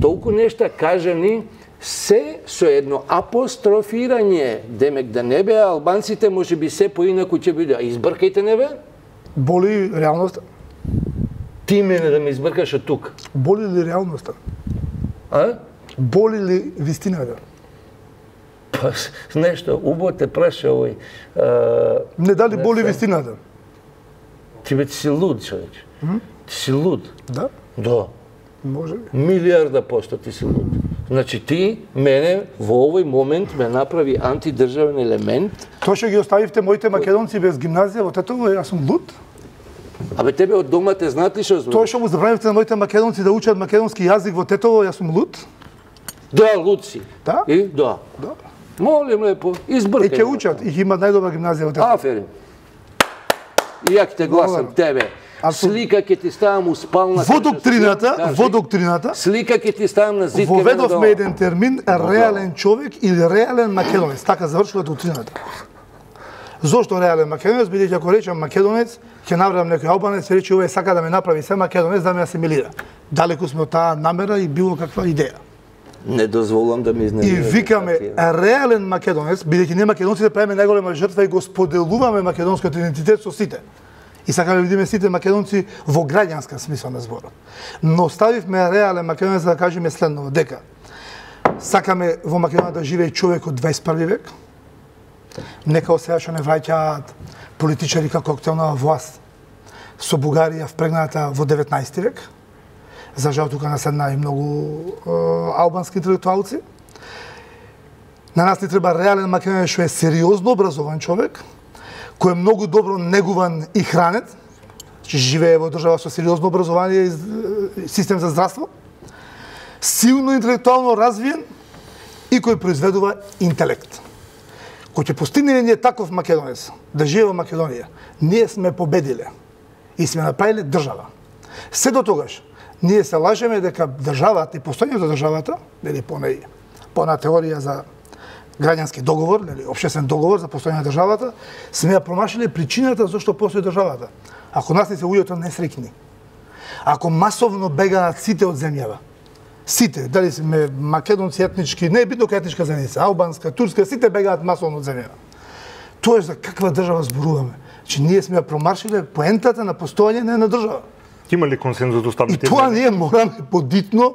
толку нешта кажани, се со едно апострофирање, демек да не беа албанците, може би се поинаку ќе биде. А избркајте не бе? Боли реалноста? Ти мене да ме избркаш од тук. Боли ли реалноста? А? Боли ли вистината? Па, нешто, убаво те праша овој. А, Не дали Не боли се. вистината? ти бе ти си луд, човече. Ти си луд. Да, Да. може би. Милиарда посто ти си луд. Значи ти, мене, во овој момент ме направи антидржавен елемент. Тоа што ги оставивте моите македонци без гимназија во Тетово, јас сум луд. Абе тебе од дома те знаат ли што Тоа збориш? што му забранивте на моите македонци да учат македонски јазик во Тетово, јас сум луд. Да, луд си. Да? И? Да. Да. Молим лепо, И избркај. ќе учат, и ќе имат најдобра гимназија во Тетово. Аферим. И ја ќе те гласам Благодарам. тебе. Апсолутно. Слика ќе ти ставам у спална. Во доктрината, во доктрината, Слика ќе ти ставам на зид. воведовме еден термин реален човек или реален македонец. Така завршува доктрината. Зошто реален македонец? Бидејќи ако речам македонец, ќе набрам некој албанец и рече овој сака да ме направи се македонец да ме асимилира. Далеку сме од таа намера и било каква идеја. Не дозволам да ми И изненадиш. викаме реален македонец, бидејќи ние македонците правиме најголема жртва и го споделуваме македонскиот идентитет со сите. И сакаме да видиме сите македонци во граѓанска смисла на зборот. Но ставивме реален македонец за да кажеме следново, дека сакаме во Македонија да живее човек од дваесет и први век, нека од сега што не враќаат политичари како актуелна власт со Бугарија впрегната во деветнаесети век. За жал тука наседна и многу е, албански интелектуалци. На нас ни треба реален македонец што е сериозно образован човек, кој е многу добро негуван и хранет, че живее во држава со сериозно образование и систем за здравство, силно интелектуално развиен и кој произведува интелект. Кој ќе постигне ние таков македонец да живее во Македонија, ние сме победиле и сме направиле држава. Се до тогаш, ние се лажеме дека државата и постојањето на државата, нели по неј, по на теорија за граѓански договор, нели општествен договор за постојање на државата, сме ја промашиле причината зашто постои државата. Ако нас не се луѓето несреќни, ако масовно бегаат сите од земјава, сите, дали сме македонци етнички, не е битно која етничка заедница, албанска, турска, сите бегаат масовно од земјава. Тоа е за каква држава зборуваме? Че ние сме ја промаршиле поентата на постојање на една држава. Има ли консензус И уставните? тоа ние мораме подитно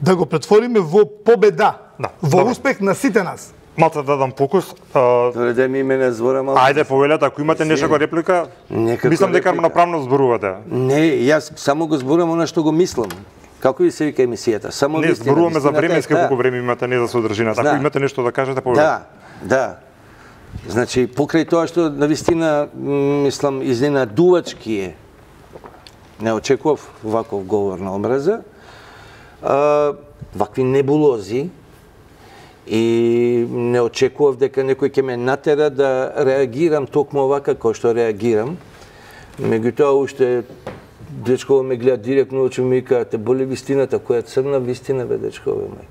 да го претвориме во победа, Да, во добро. успех на сите нас. Малце да дам фокус. А, Добре, да ми мене збора малку. ајде повелете, ако имате нешто реплика, Некако мислам дека реплика. направно зборувате. Не, јас само го зборувам она што го мислам. Како ви се вика емисијата? Само Не, вистина. зборуваме за Вистината е временски таа. колку време имате, не за содржината. Ако Да. имате нешто да кажете, повелете. Да, да. Значи, покрај тоа што на вистина, м, мислам, изненадувачки е, не очекував ваков говор на омраза, а, вакви небулози, и не очекував дека некој ќе ме натера да реагирам токму овака кој што реагирам. Меѓутоа, уште дечко ме гледа директно очи ми вика, те боли вистината, која црна вистина бе дечко мај.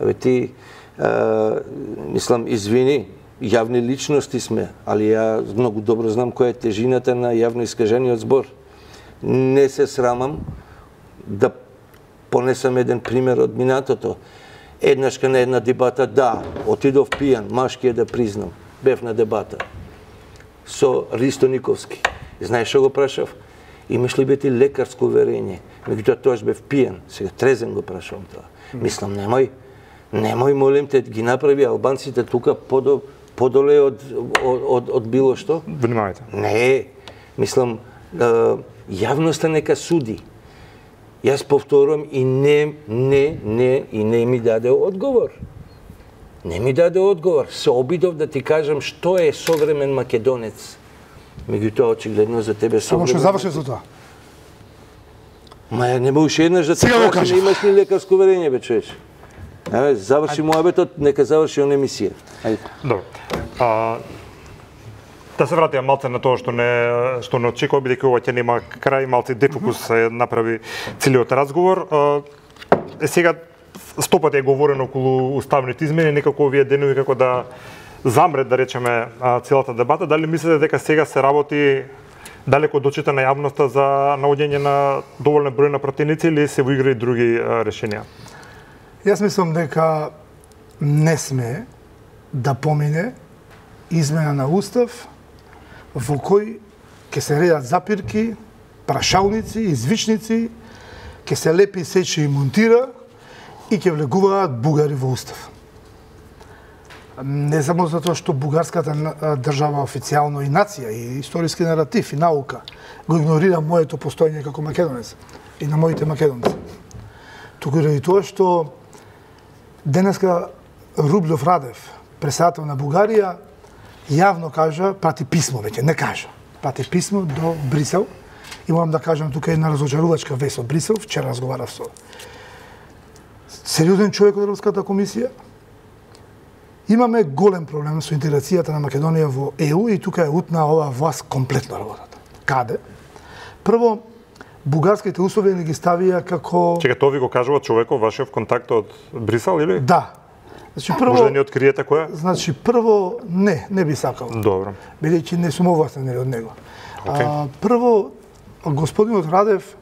Абе ти, а, мислам, извини, јавни личности сме, али ја многу добро знам која е тежината на јавно искажениот збор. Не се срамам да понесам еден пример од минатото. Еднашка на една дебата, да, отидов пијан, машки е да признам, бев на дебата со Ристо Никовски. Знаеш што го прашав? Имаш ли бе ти лекарско уверение? Меѓутоа тоаш бев пијан, сега трезен го прашувам тоа. Мислам, немој, немој, молим те, ги направи албанците тука подо, подоле од, од, од, од било што? Внимавајте. Не, мислам, јавноста нека суди. Јас повторувам и не, не, не, и не ми даде одговор. Не ми даде одговор. Се обидов да ти кажам што е современ македонец. Меѓутоа, очигледно за тебе Само современ... што заврши со тоа. Ма не можеш еднаш да ти Сега го кажеш, кажав. имаш ли лекарско уверение, бе, човече? Абе, заврши муабетот, нека заврши он емисија. Ајде. Добро. А, да се вратиме малце на тоа што не што не очекува, бидејќи ова ќе нема крај, малце дефокус се направи целиот разговор. А, е сега сто пати е говорено околу уставните измени, некако овие денови како да замрет, да речеме, целата дебата. Дали мислите дека сега се работи далеко од очите на јавноста за наоѓање на доволен број на пратеници или се во игра и други а, решенија? Јас мислам дека не сме да помине измена на устав во кој ќе се редат запирки, прашалници, извичници, ќе се лепи, сече и монтира и ќе влегуваат бугари во устав. Не само затоа што бугарската држава официјално и нација, и историски наратив, и наука го игнорира моето постоење како македонец и на моите македонци. Туку и ради тоа што денеска Рублев Радев, председател на Бугарија, јавно кажа, прати писмо веќе, не кажа, прати писмо до Брисел. И морам да кажам, тука е една разочарувачка вест од Брисел, вчера разговарав со сериозен човек од Европската комисија. Имаме голем проблем со интеграцијата на Македонија во Е У и тука е утна оваа власт комплетно работата. Каде? Прво, бугарските услови не ги ставија како... Чека, тоа ви го кажува човекот, вашиот контакт од Брисел, или? Да. Значи, прво... Може да ни откриете која? Значи, прво, не, не би сакал. Добро. Бидејќи не сум овластен од него. Okay. А, прво, господинот Радев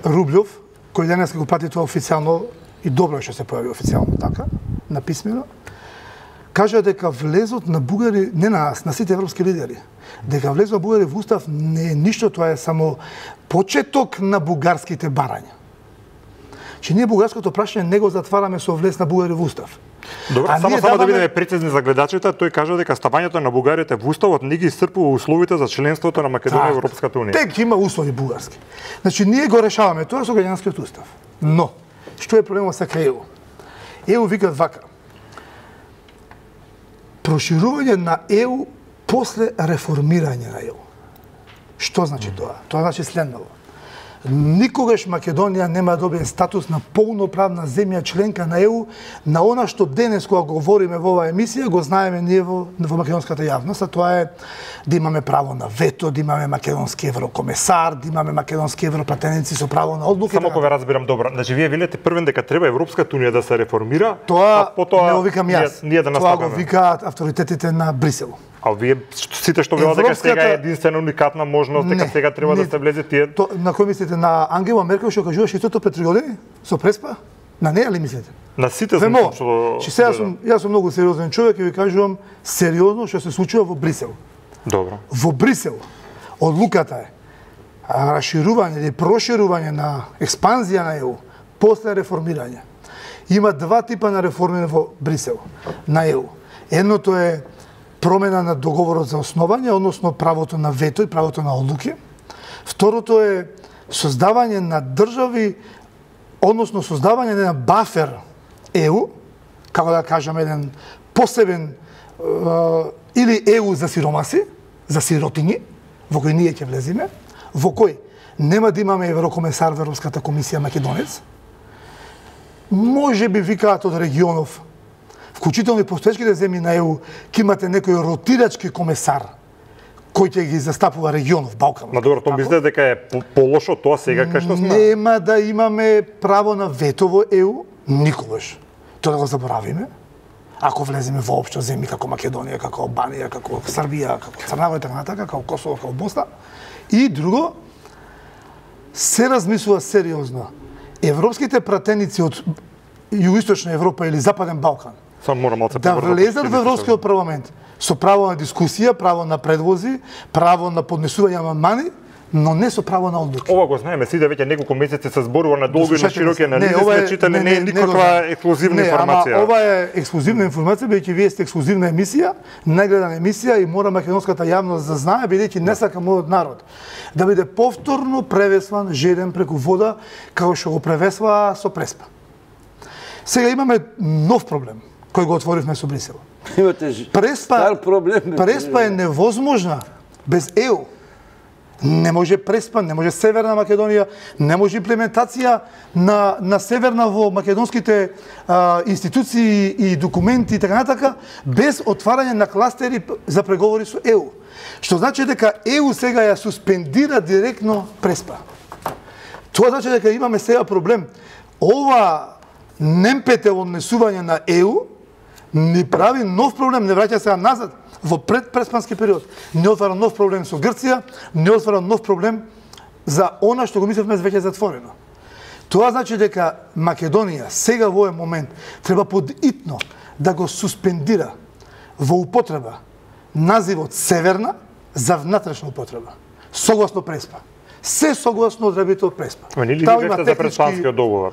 Рублев, кој денес го прати тоа официјално, и добро е што се појави официјално така, написмено, кажа дека влезот на бугари, не на нас, на сите европски лидери, дека влезот на бугари во устав не е ништо, тоа е само почеток на бугарските барања. Че ние бугарското прашање не го затвараме со влез на бугари во устав. Добро, А само ние само да даваме- бидеме прецизни за гледачите, тој кажа дека ставањето на бугарите во уставот не ги исцрпува условите за членството на Македонија во Европската унија. Тек има услови бугарски. Значи, ние го решаваме тоа со граѓанскиот устав. Но, што е проблемот со Е У? Е У викат вака. Проширување на Е У после реформирање на Е У. Што значи тоа? Тоа значи следново. Никогаш Македонија нема да добие статус на полноправна земја членка на Е У, на она што денес кога говориме во оваа емисија го знаеме ние во, во македонската јавност, а тоа е да имаме право на вето, да имаме македонски еврокомесар, да имаме македонски европратеници со право на одлуки. Само кога разбирам добро, значи вие велите првен дека треба Европската унија да се реформира, Тоа а потоа не го викам јас. ние, ние да Тоа го наставаме. викаат авторитетите на Брисел. А вие сите што велат дека сега е единствена уникатна можност, дека Не, сега треба не. да се влезе тие. То, на кој мислите? На Ангела Меркел што кажуваше истото пред три години? Со Преспа? На неја ли мислите? На сите Ве сум мога. што... Че сега да, сум, јас сум многу сериозен човек и ви кажувам сериозно што се случува во Брисел. да. Добро. Во Брисел одлуката е а, расширување или проширување на експанзија на Е У после реформирање. Има два типа на реформи во Брисел на Е У. Едното е промена на договорот за основање, односно правото на вето и правото на одлуки. Второто е создавање на држави, односно создавање на бафер Е У, како да кажам еден посебен е, или Е У за сиромаси, за сиротињи, во кој ние ќе влеземе, во кој нема да имаме еврокомесар во Европската комисија македонец, може би викаат од регионов, вклучително и постоечките земји на Е У, ќе имате некој ротирачки комесар кој ќе ги застапува регионов, Балкан. Ма добро, тоа мислите дека е по- полошо тоа сега кај што сме? Нема да имаме право на вето во Е У никогаш. Тоа да го заборавиме. ако влеземе воопшто земји како Македонија, како Албанија, како Србија, како Црна Гора и така натака, како Косово, како Босна. И друго, се размислува сериозно. Европските пратеници од Југоисточна Европа или Западен Балкан Само мора малце да влезат во Европскиот парламент со право на дискусија, право на предлози, право на поднесување амандмани, но не со право на одлуки. Ова го знаеме, сиде веќе неколку месеци се зборува на долго и на широки анализи, ова сме читали, не е никаква ексклузивна не, информација. Ама ова е ексклузивна информација, бидејќи вие сте ексклузивна емисија, најгледана емисија и мора македонската јавност да знае, бидејќи не сака мојот народ да биде повторно превесван жеден преку вода, како што го превесва со Преспа. Сега имаме нов проблем кој го отворивме со Брисел. Имате Преспа, стар проблем. Преспа е невозможна без Е У. Не може Преспа, не може Северна Македонија, не може имплементација на, на Северна во македонските а, институции и документи и така натака, без отварање на кластери за преговори со Е У. Што значи дека Е У сега ја суспендира директно Преспа. Тоа значи дека имаме сега проблем. Ова немпете однесување на Е У ни прави нов проблем, не враќа сега назад во предпреспански период. Не отвара нов проблем со Грција, не отвара нов проблем за она што го мислевме веќе затворено. Тоа значи дека Македонија сега во овој момент треба подитно да го суспендира во употреба називот Северна за внатрешна употреба, согласно Преспа. Се согласно одредбите од Преспа. Ма не ли ви бевте за преспанскиот договор?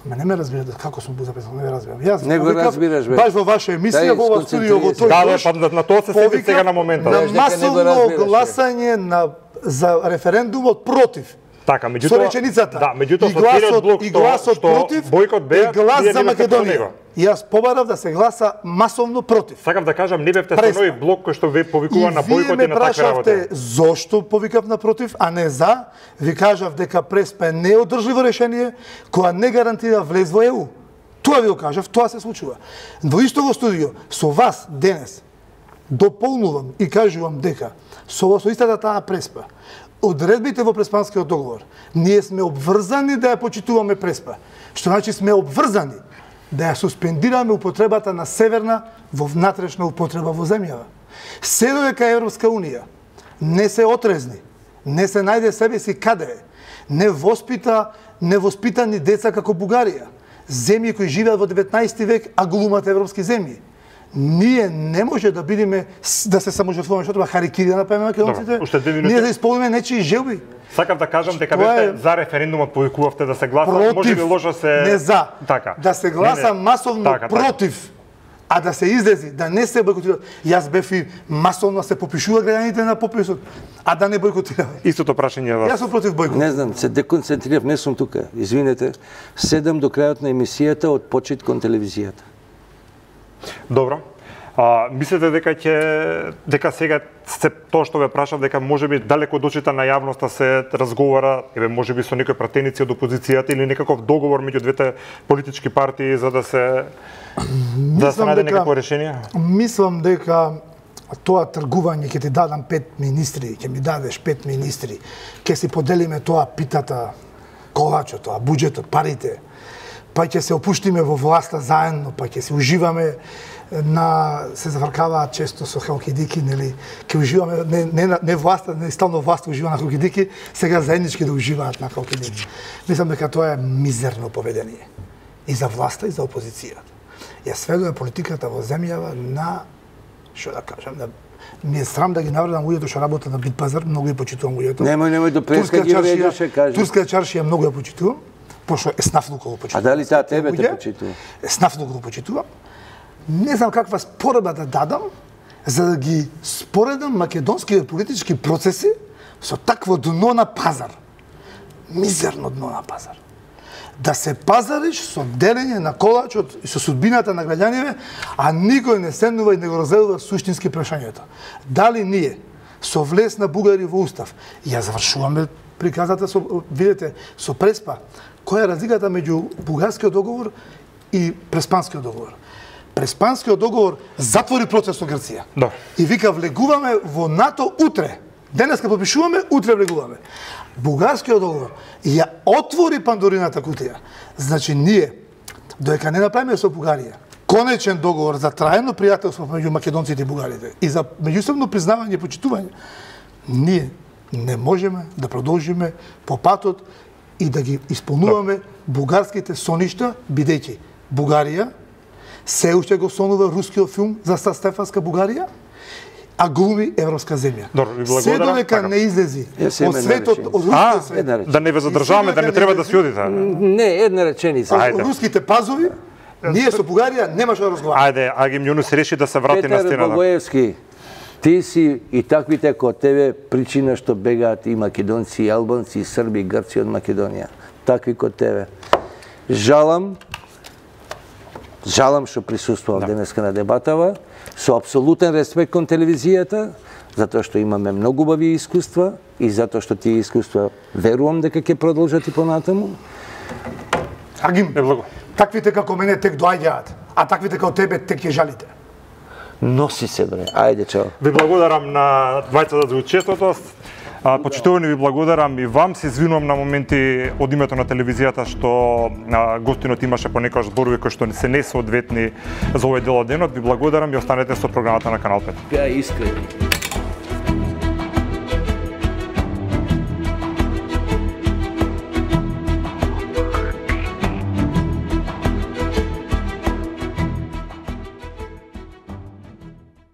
Ма не ме разбирате како сум бил записан, не ме разбирам. Јас не го разбираш, бе. Баш во ваша емисија, во ова студио, во тој Да, бе, па на тоа се седи сега на моментот. На масовно гласање на за референдумот против. Така, меѓутоа со реченицата. Да, меѓутоа и гласот, блок и гласот што, против, што бойкот беа, и глас вие за не бевте со Македонија. него. И јас побарав да се гласа масовно против. Сакам да кажам, не бевте со Преспа. нови блок кој што ве повикува на бойкот и на таква работа. И вие ме прашавте зошто повикав на против, а не за. Ви кажав дека Преспа е неодржливо решение која не гарантира влез во Е У. Тоа ви го кажав, тоа се случува. Во истото студио со вас денес дополнувам и кажувам дека со со истата таа Преспа, одредбите во Преспанскиот договор, ние сме обврзани да ја почитуваме Преспа. Што значи сме обврзани да ја суспендираме употребата на Северна во внатрешна употреба во земјава. Се додека Европска Унија не се отрезни, не се најде себе си каде е, не воспита невоспитани деца како Бугарија, земји кои живеат во деветнаесети век, а глумат европски земји. Ние не може да бидеме да се саможртвуваме, што треба харикири да направиме македонците. Ние да исполниме нечии желби. Сакам да кажам дека Тоа бевте е... за референдумот, повикувавте да се гласа, против, може би лошо се не за. Така. Да се гласа не, не. масовно така, против. Така. А да се излези, да не се бойкотира. Јас бев и масовно се попишува граѓаните на пописот, а да не бойкотира. Истото прашање вас. Јас сум против бойкот. Не знам, се деконцентрирав, не сум тука. Извинете. Седам до крајот на емисијата од почит кон телевизијата. Добро. А, мислите дека ќе дека сега се тоа што ве прашав дека можеби далеко од очите на јавноста се разговара, еве можеби со некои пратеници од опозицијата или некаков договор меѓу двете политички партии за да се да се најде некакво решение? Мислам дека тоа тргување ќе ти дадам пет министри, ќе ми дадеш пет министри, ќе си поделиме тоа питата, колачот, тоа буџетот, парите, па ќе се опуштиме во власта заедно, па ќе се уживаме на се завркаваат често со халкидики, нели, ќе уживаме не не не власта, не стално власта ужива на халкидики, сега заеднички да уживаат на халкидики. Мислам дека тоа е мизерно поведение и за власта и за опозицијата. Ја сведува политиката во земјава на, што да кажам, на ми е срам да ги навредам луѓето што работат на Битпазар, многу ја почитувам луѓето. Немој, немој до преска ги вредеше, кажи. Турска чаршија многу ја почитувам, пошто еснафлуко го почитувам. А дали таа тебе те почитува? Еснафлуко го почитувам. Не знам каква споредба да дадам за да ги споредам македонските политички процеси со такво дно на пазар. Мизерно дно на пазар. Да се пазариш со делење на колачот и со судбината на граѓаните, а никој не седнува и не го разделува суштински прашањето. Дали ние со влез на бугари во устав, ја завршуваме приказата со, видете, со Преспа, која е разликата меѓу бугарскиот договор и преспанскиот договор? Преспанскиот договор затвори процес со Грција. Да. И вика влегуваме во НАТО утре. Денеска подпишуваме, утре влегуваме. Бугарскиот договор ја отвори Пандорината кутија. Значи ние, додека не направиме со Бугарија конечен договор за трајно пријателство меѓу македонците и бугарите и за меѓусебно признавање и почитување, ние не можеме да продолжиме по патот и да ги исполнуваме бугарските соништа, бидејќи Бугарија се уште го сонува рускиот филм за Стефанска Бугарија, а глуми европска земја. Се додека не излези од светот, од рускиот свет. Да не ве задржаваме, да не треба да си одите. Не, една реченица. Од руските пазови, ние со Бугарија нема што да разговараме. Ајде, Агим Јунус реши да се врати на стената. Петар Богоевски, ти си и таквите како тебе причина што бегаат и македонци, и албанци, и срби, и грци од Македонија. Такви како тебе. Жалам, жалам што присуствувам денеска на дебатава, со апсолутен респект кон телевизијата, затоа што имаме многу убави искуства и затоа што тие искуства верувам дека ќе продолжат и понатаму. Агим, таквите како мене тек доаѓаат, а таквите како тебе тек ќе жалите. Носи се, бре. Ајде, чао. Ви благодарам на двајцата за учеството. Почитувани, ви благодарам и вам. Се извинувам на моменти од името на телевизијата што гостинот имаше понекогаш зборови кои што се несоодветни за овој дел од денот. Ви благодарам и останете со програмата на Канал пет. Беа искрени.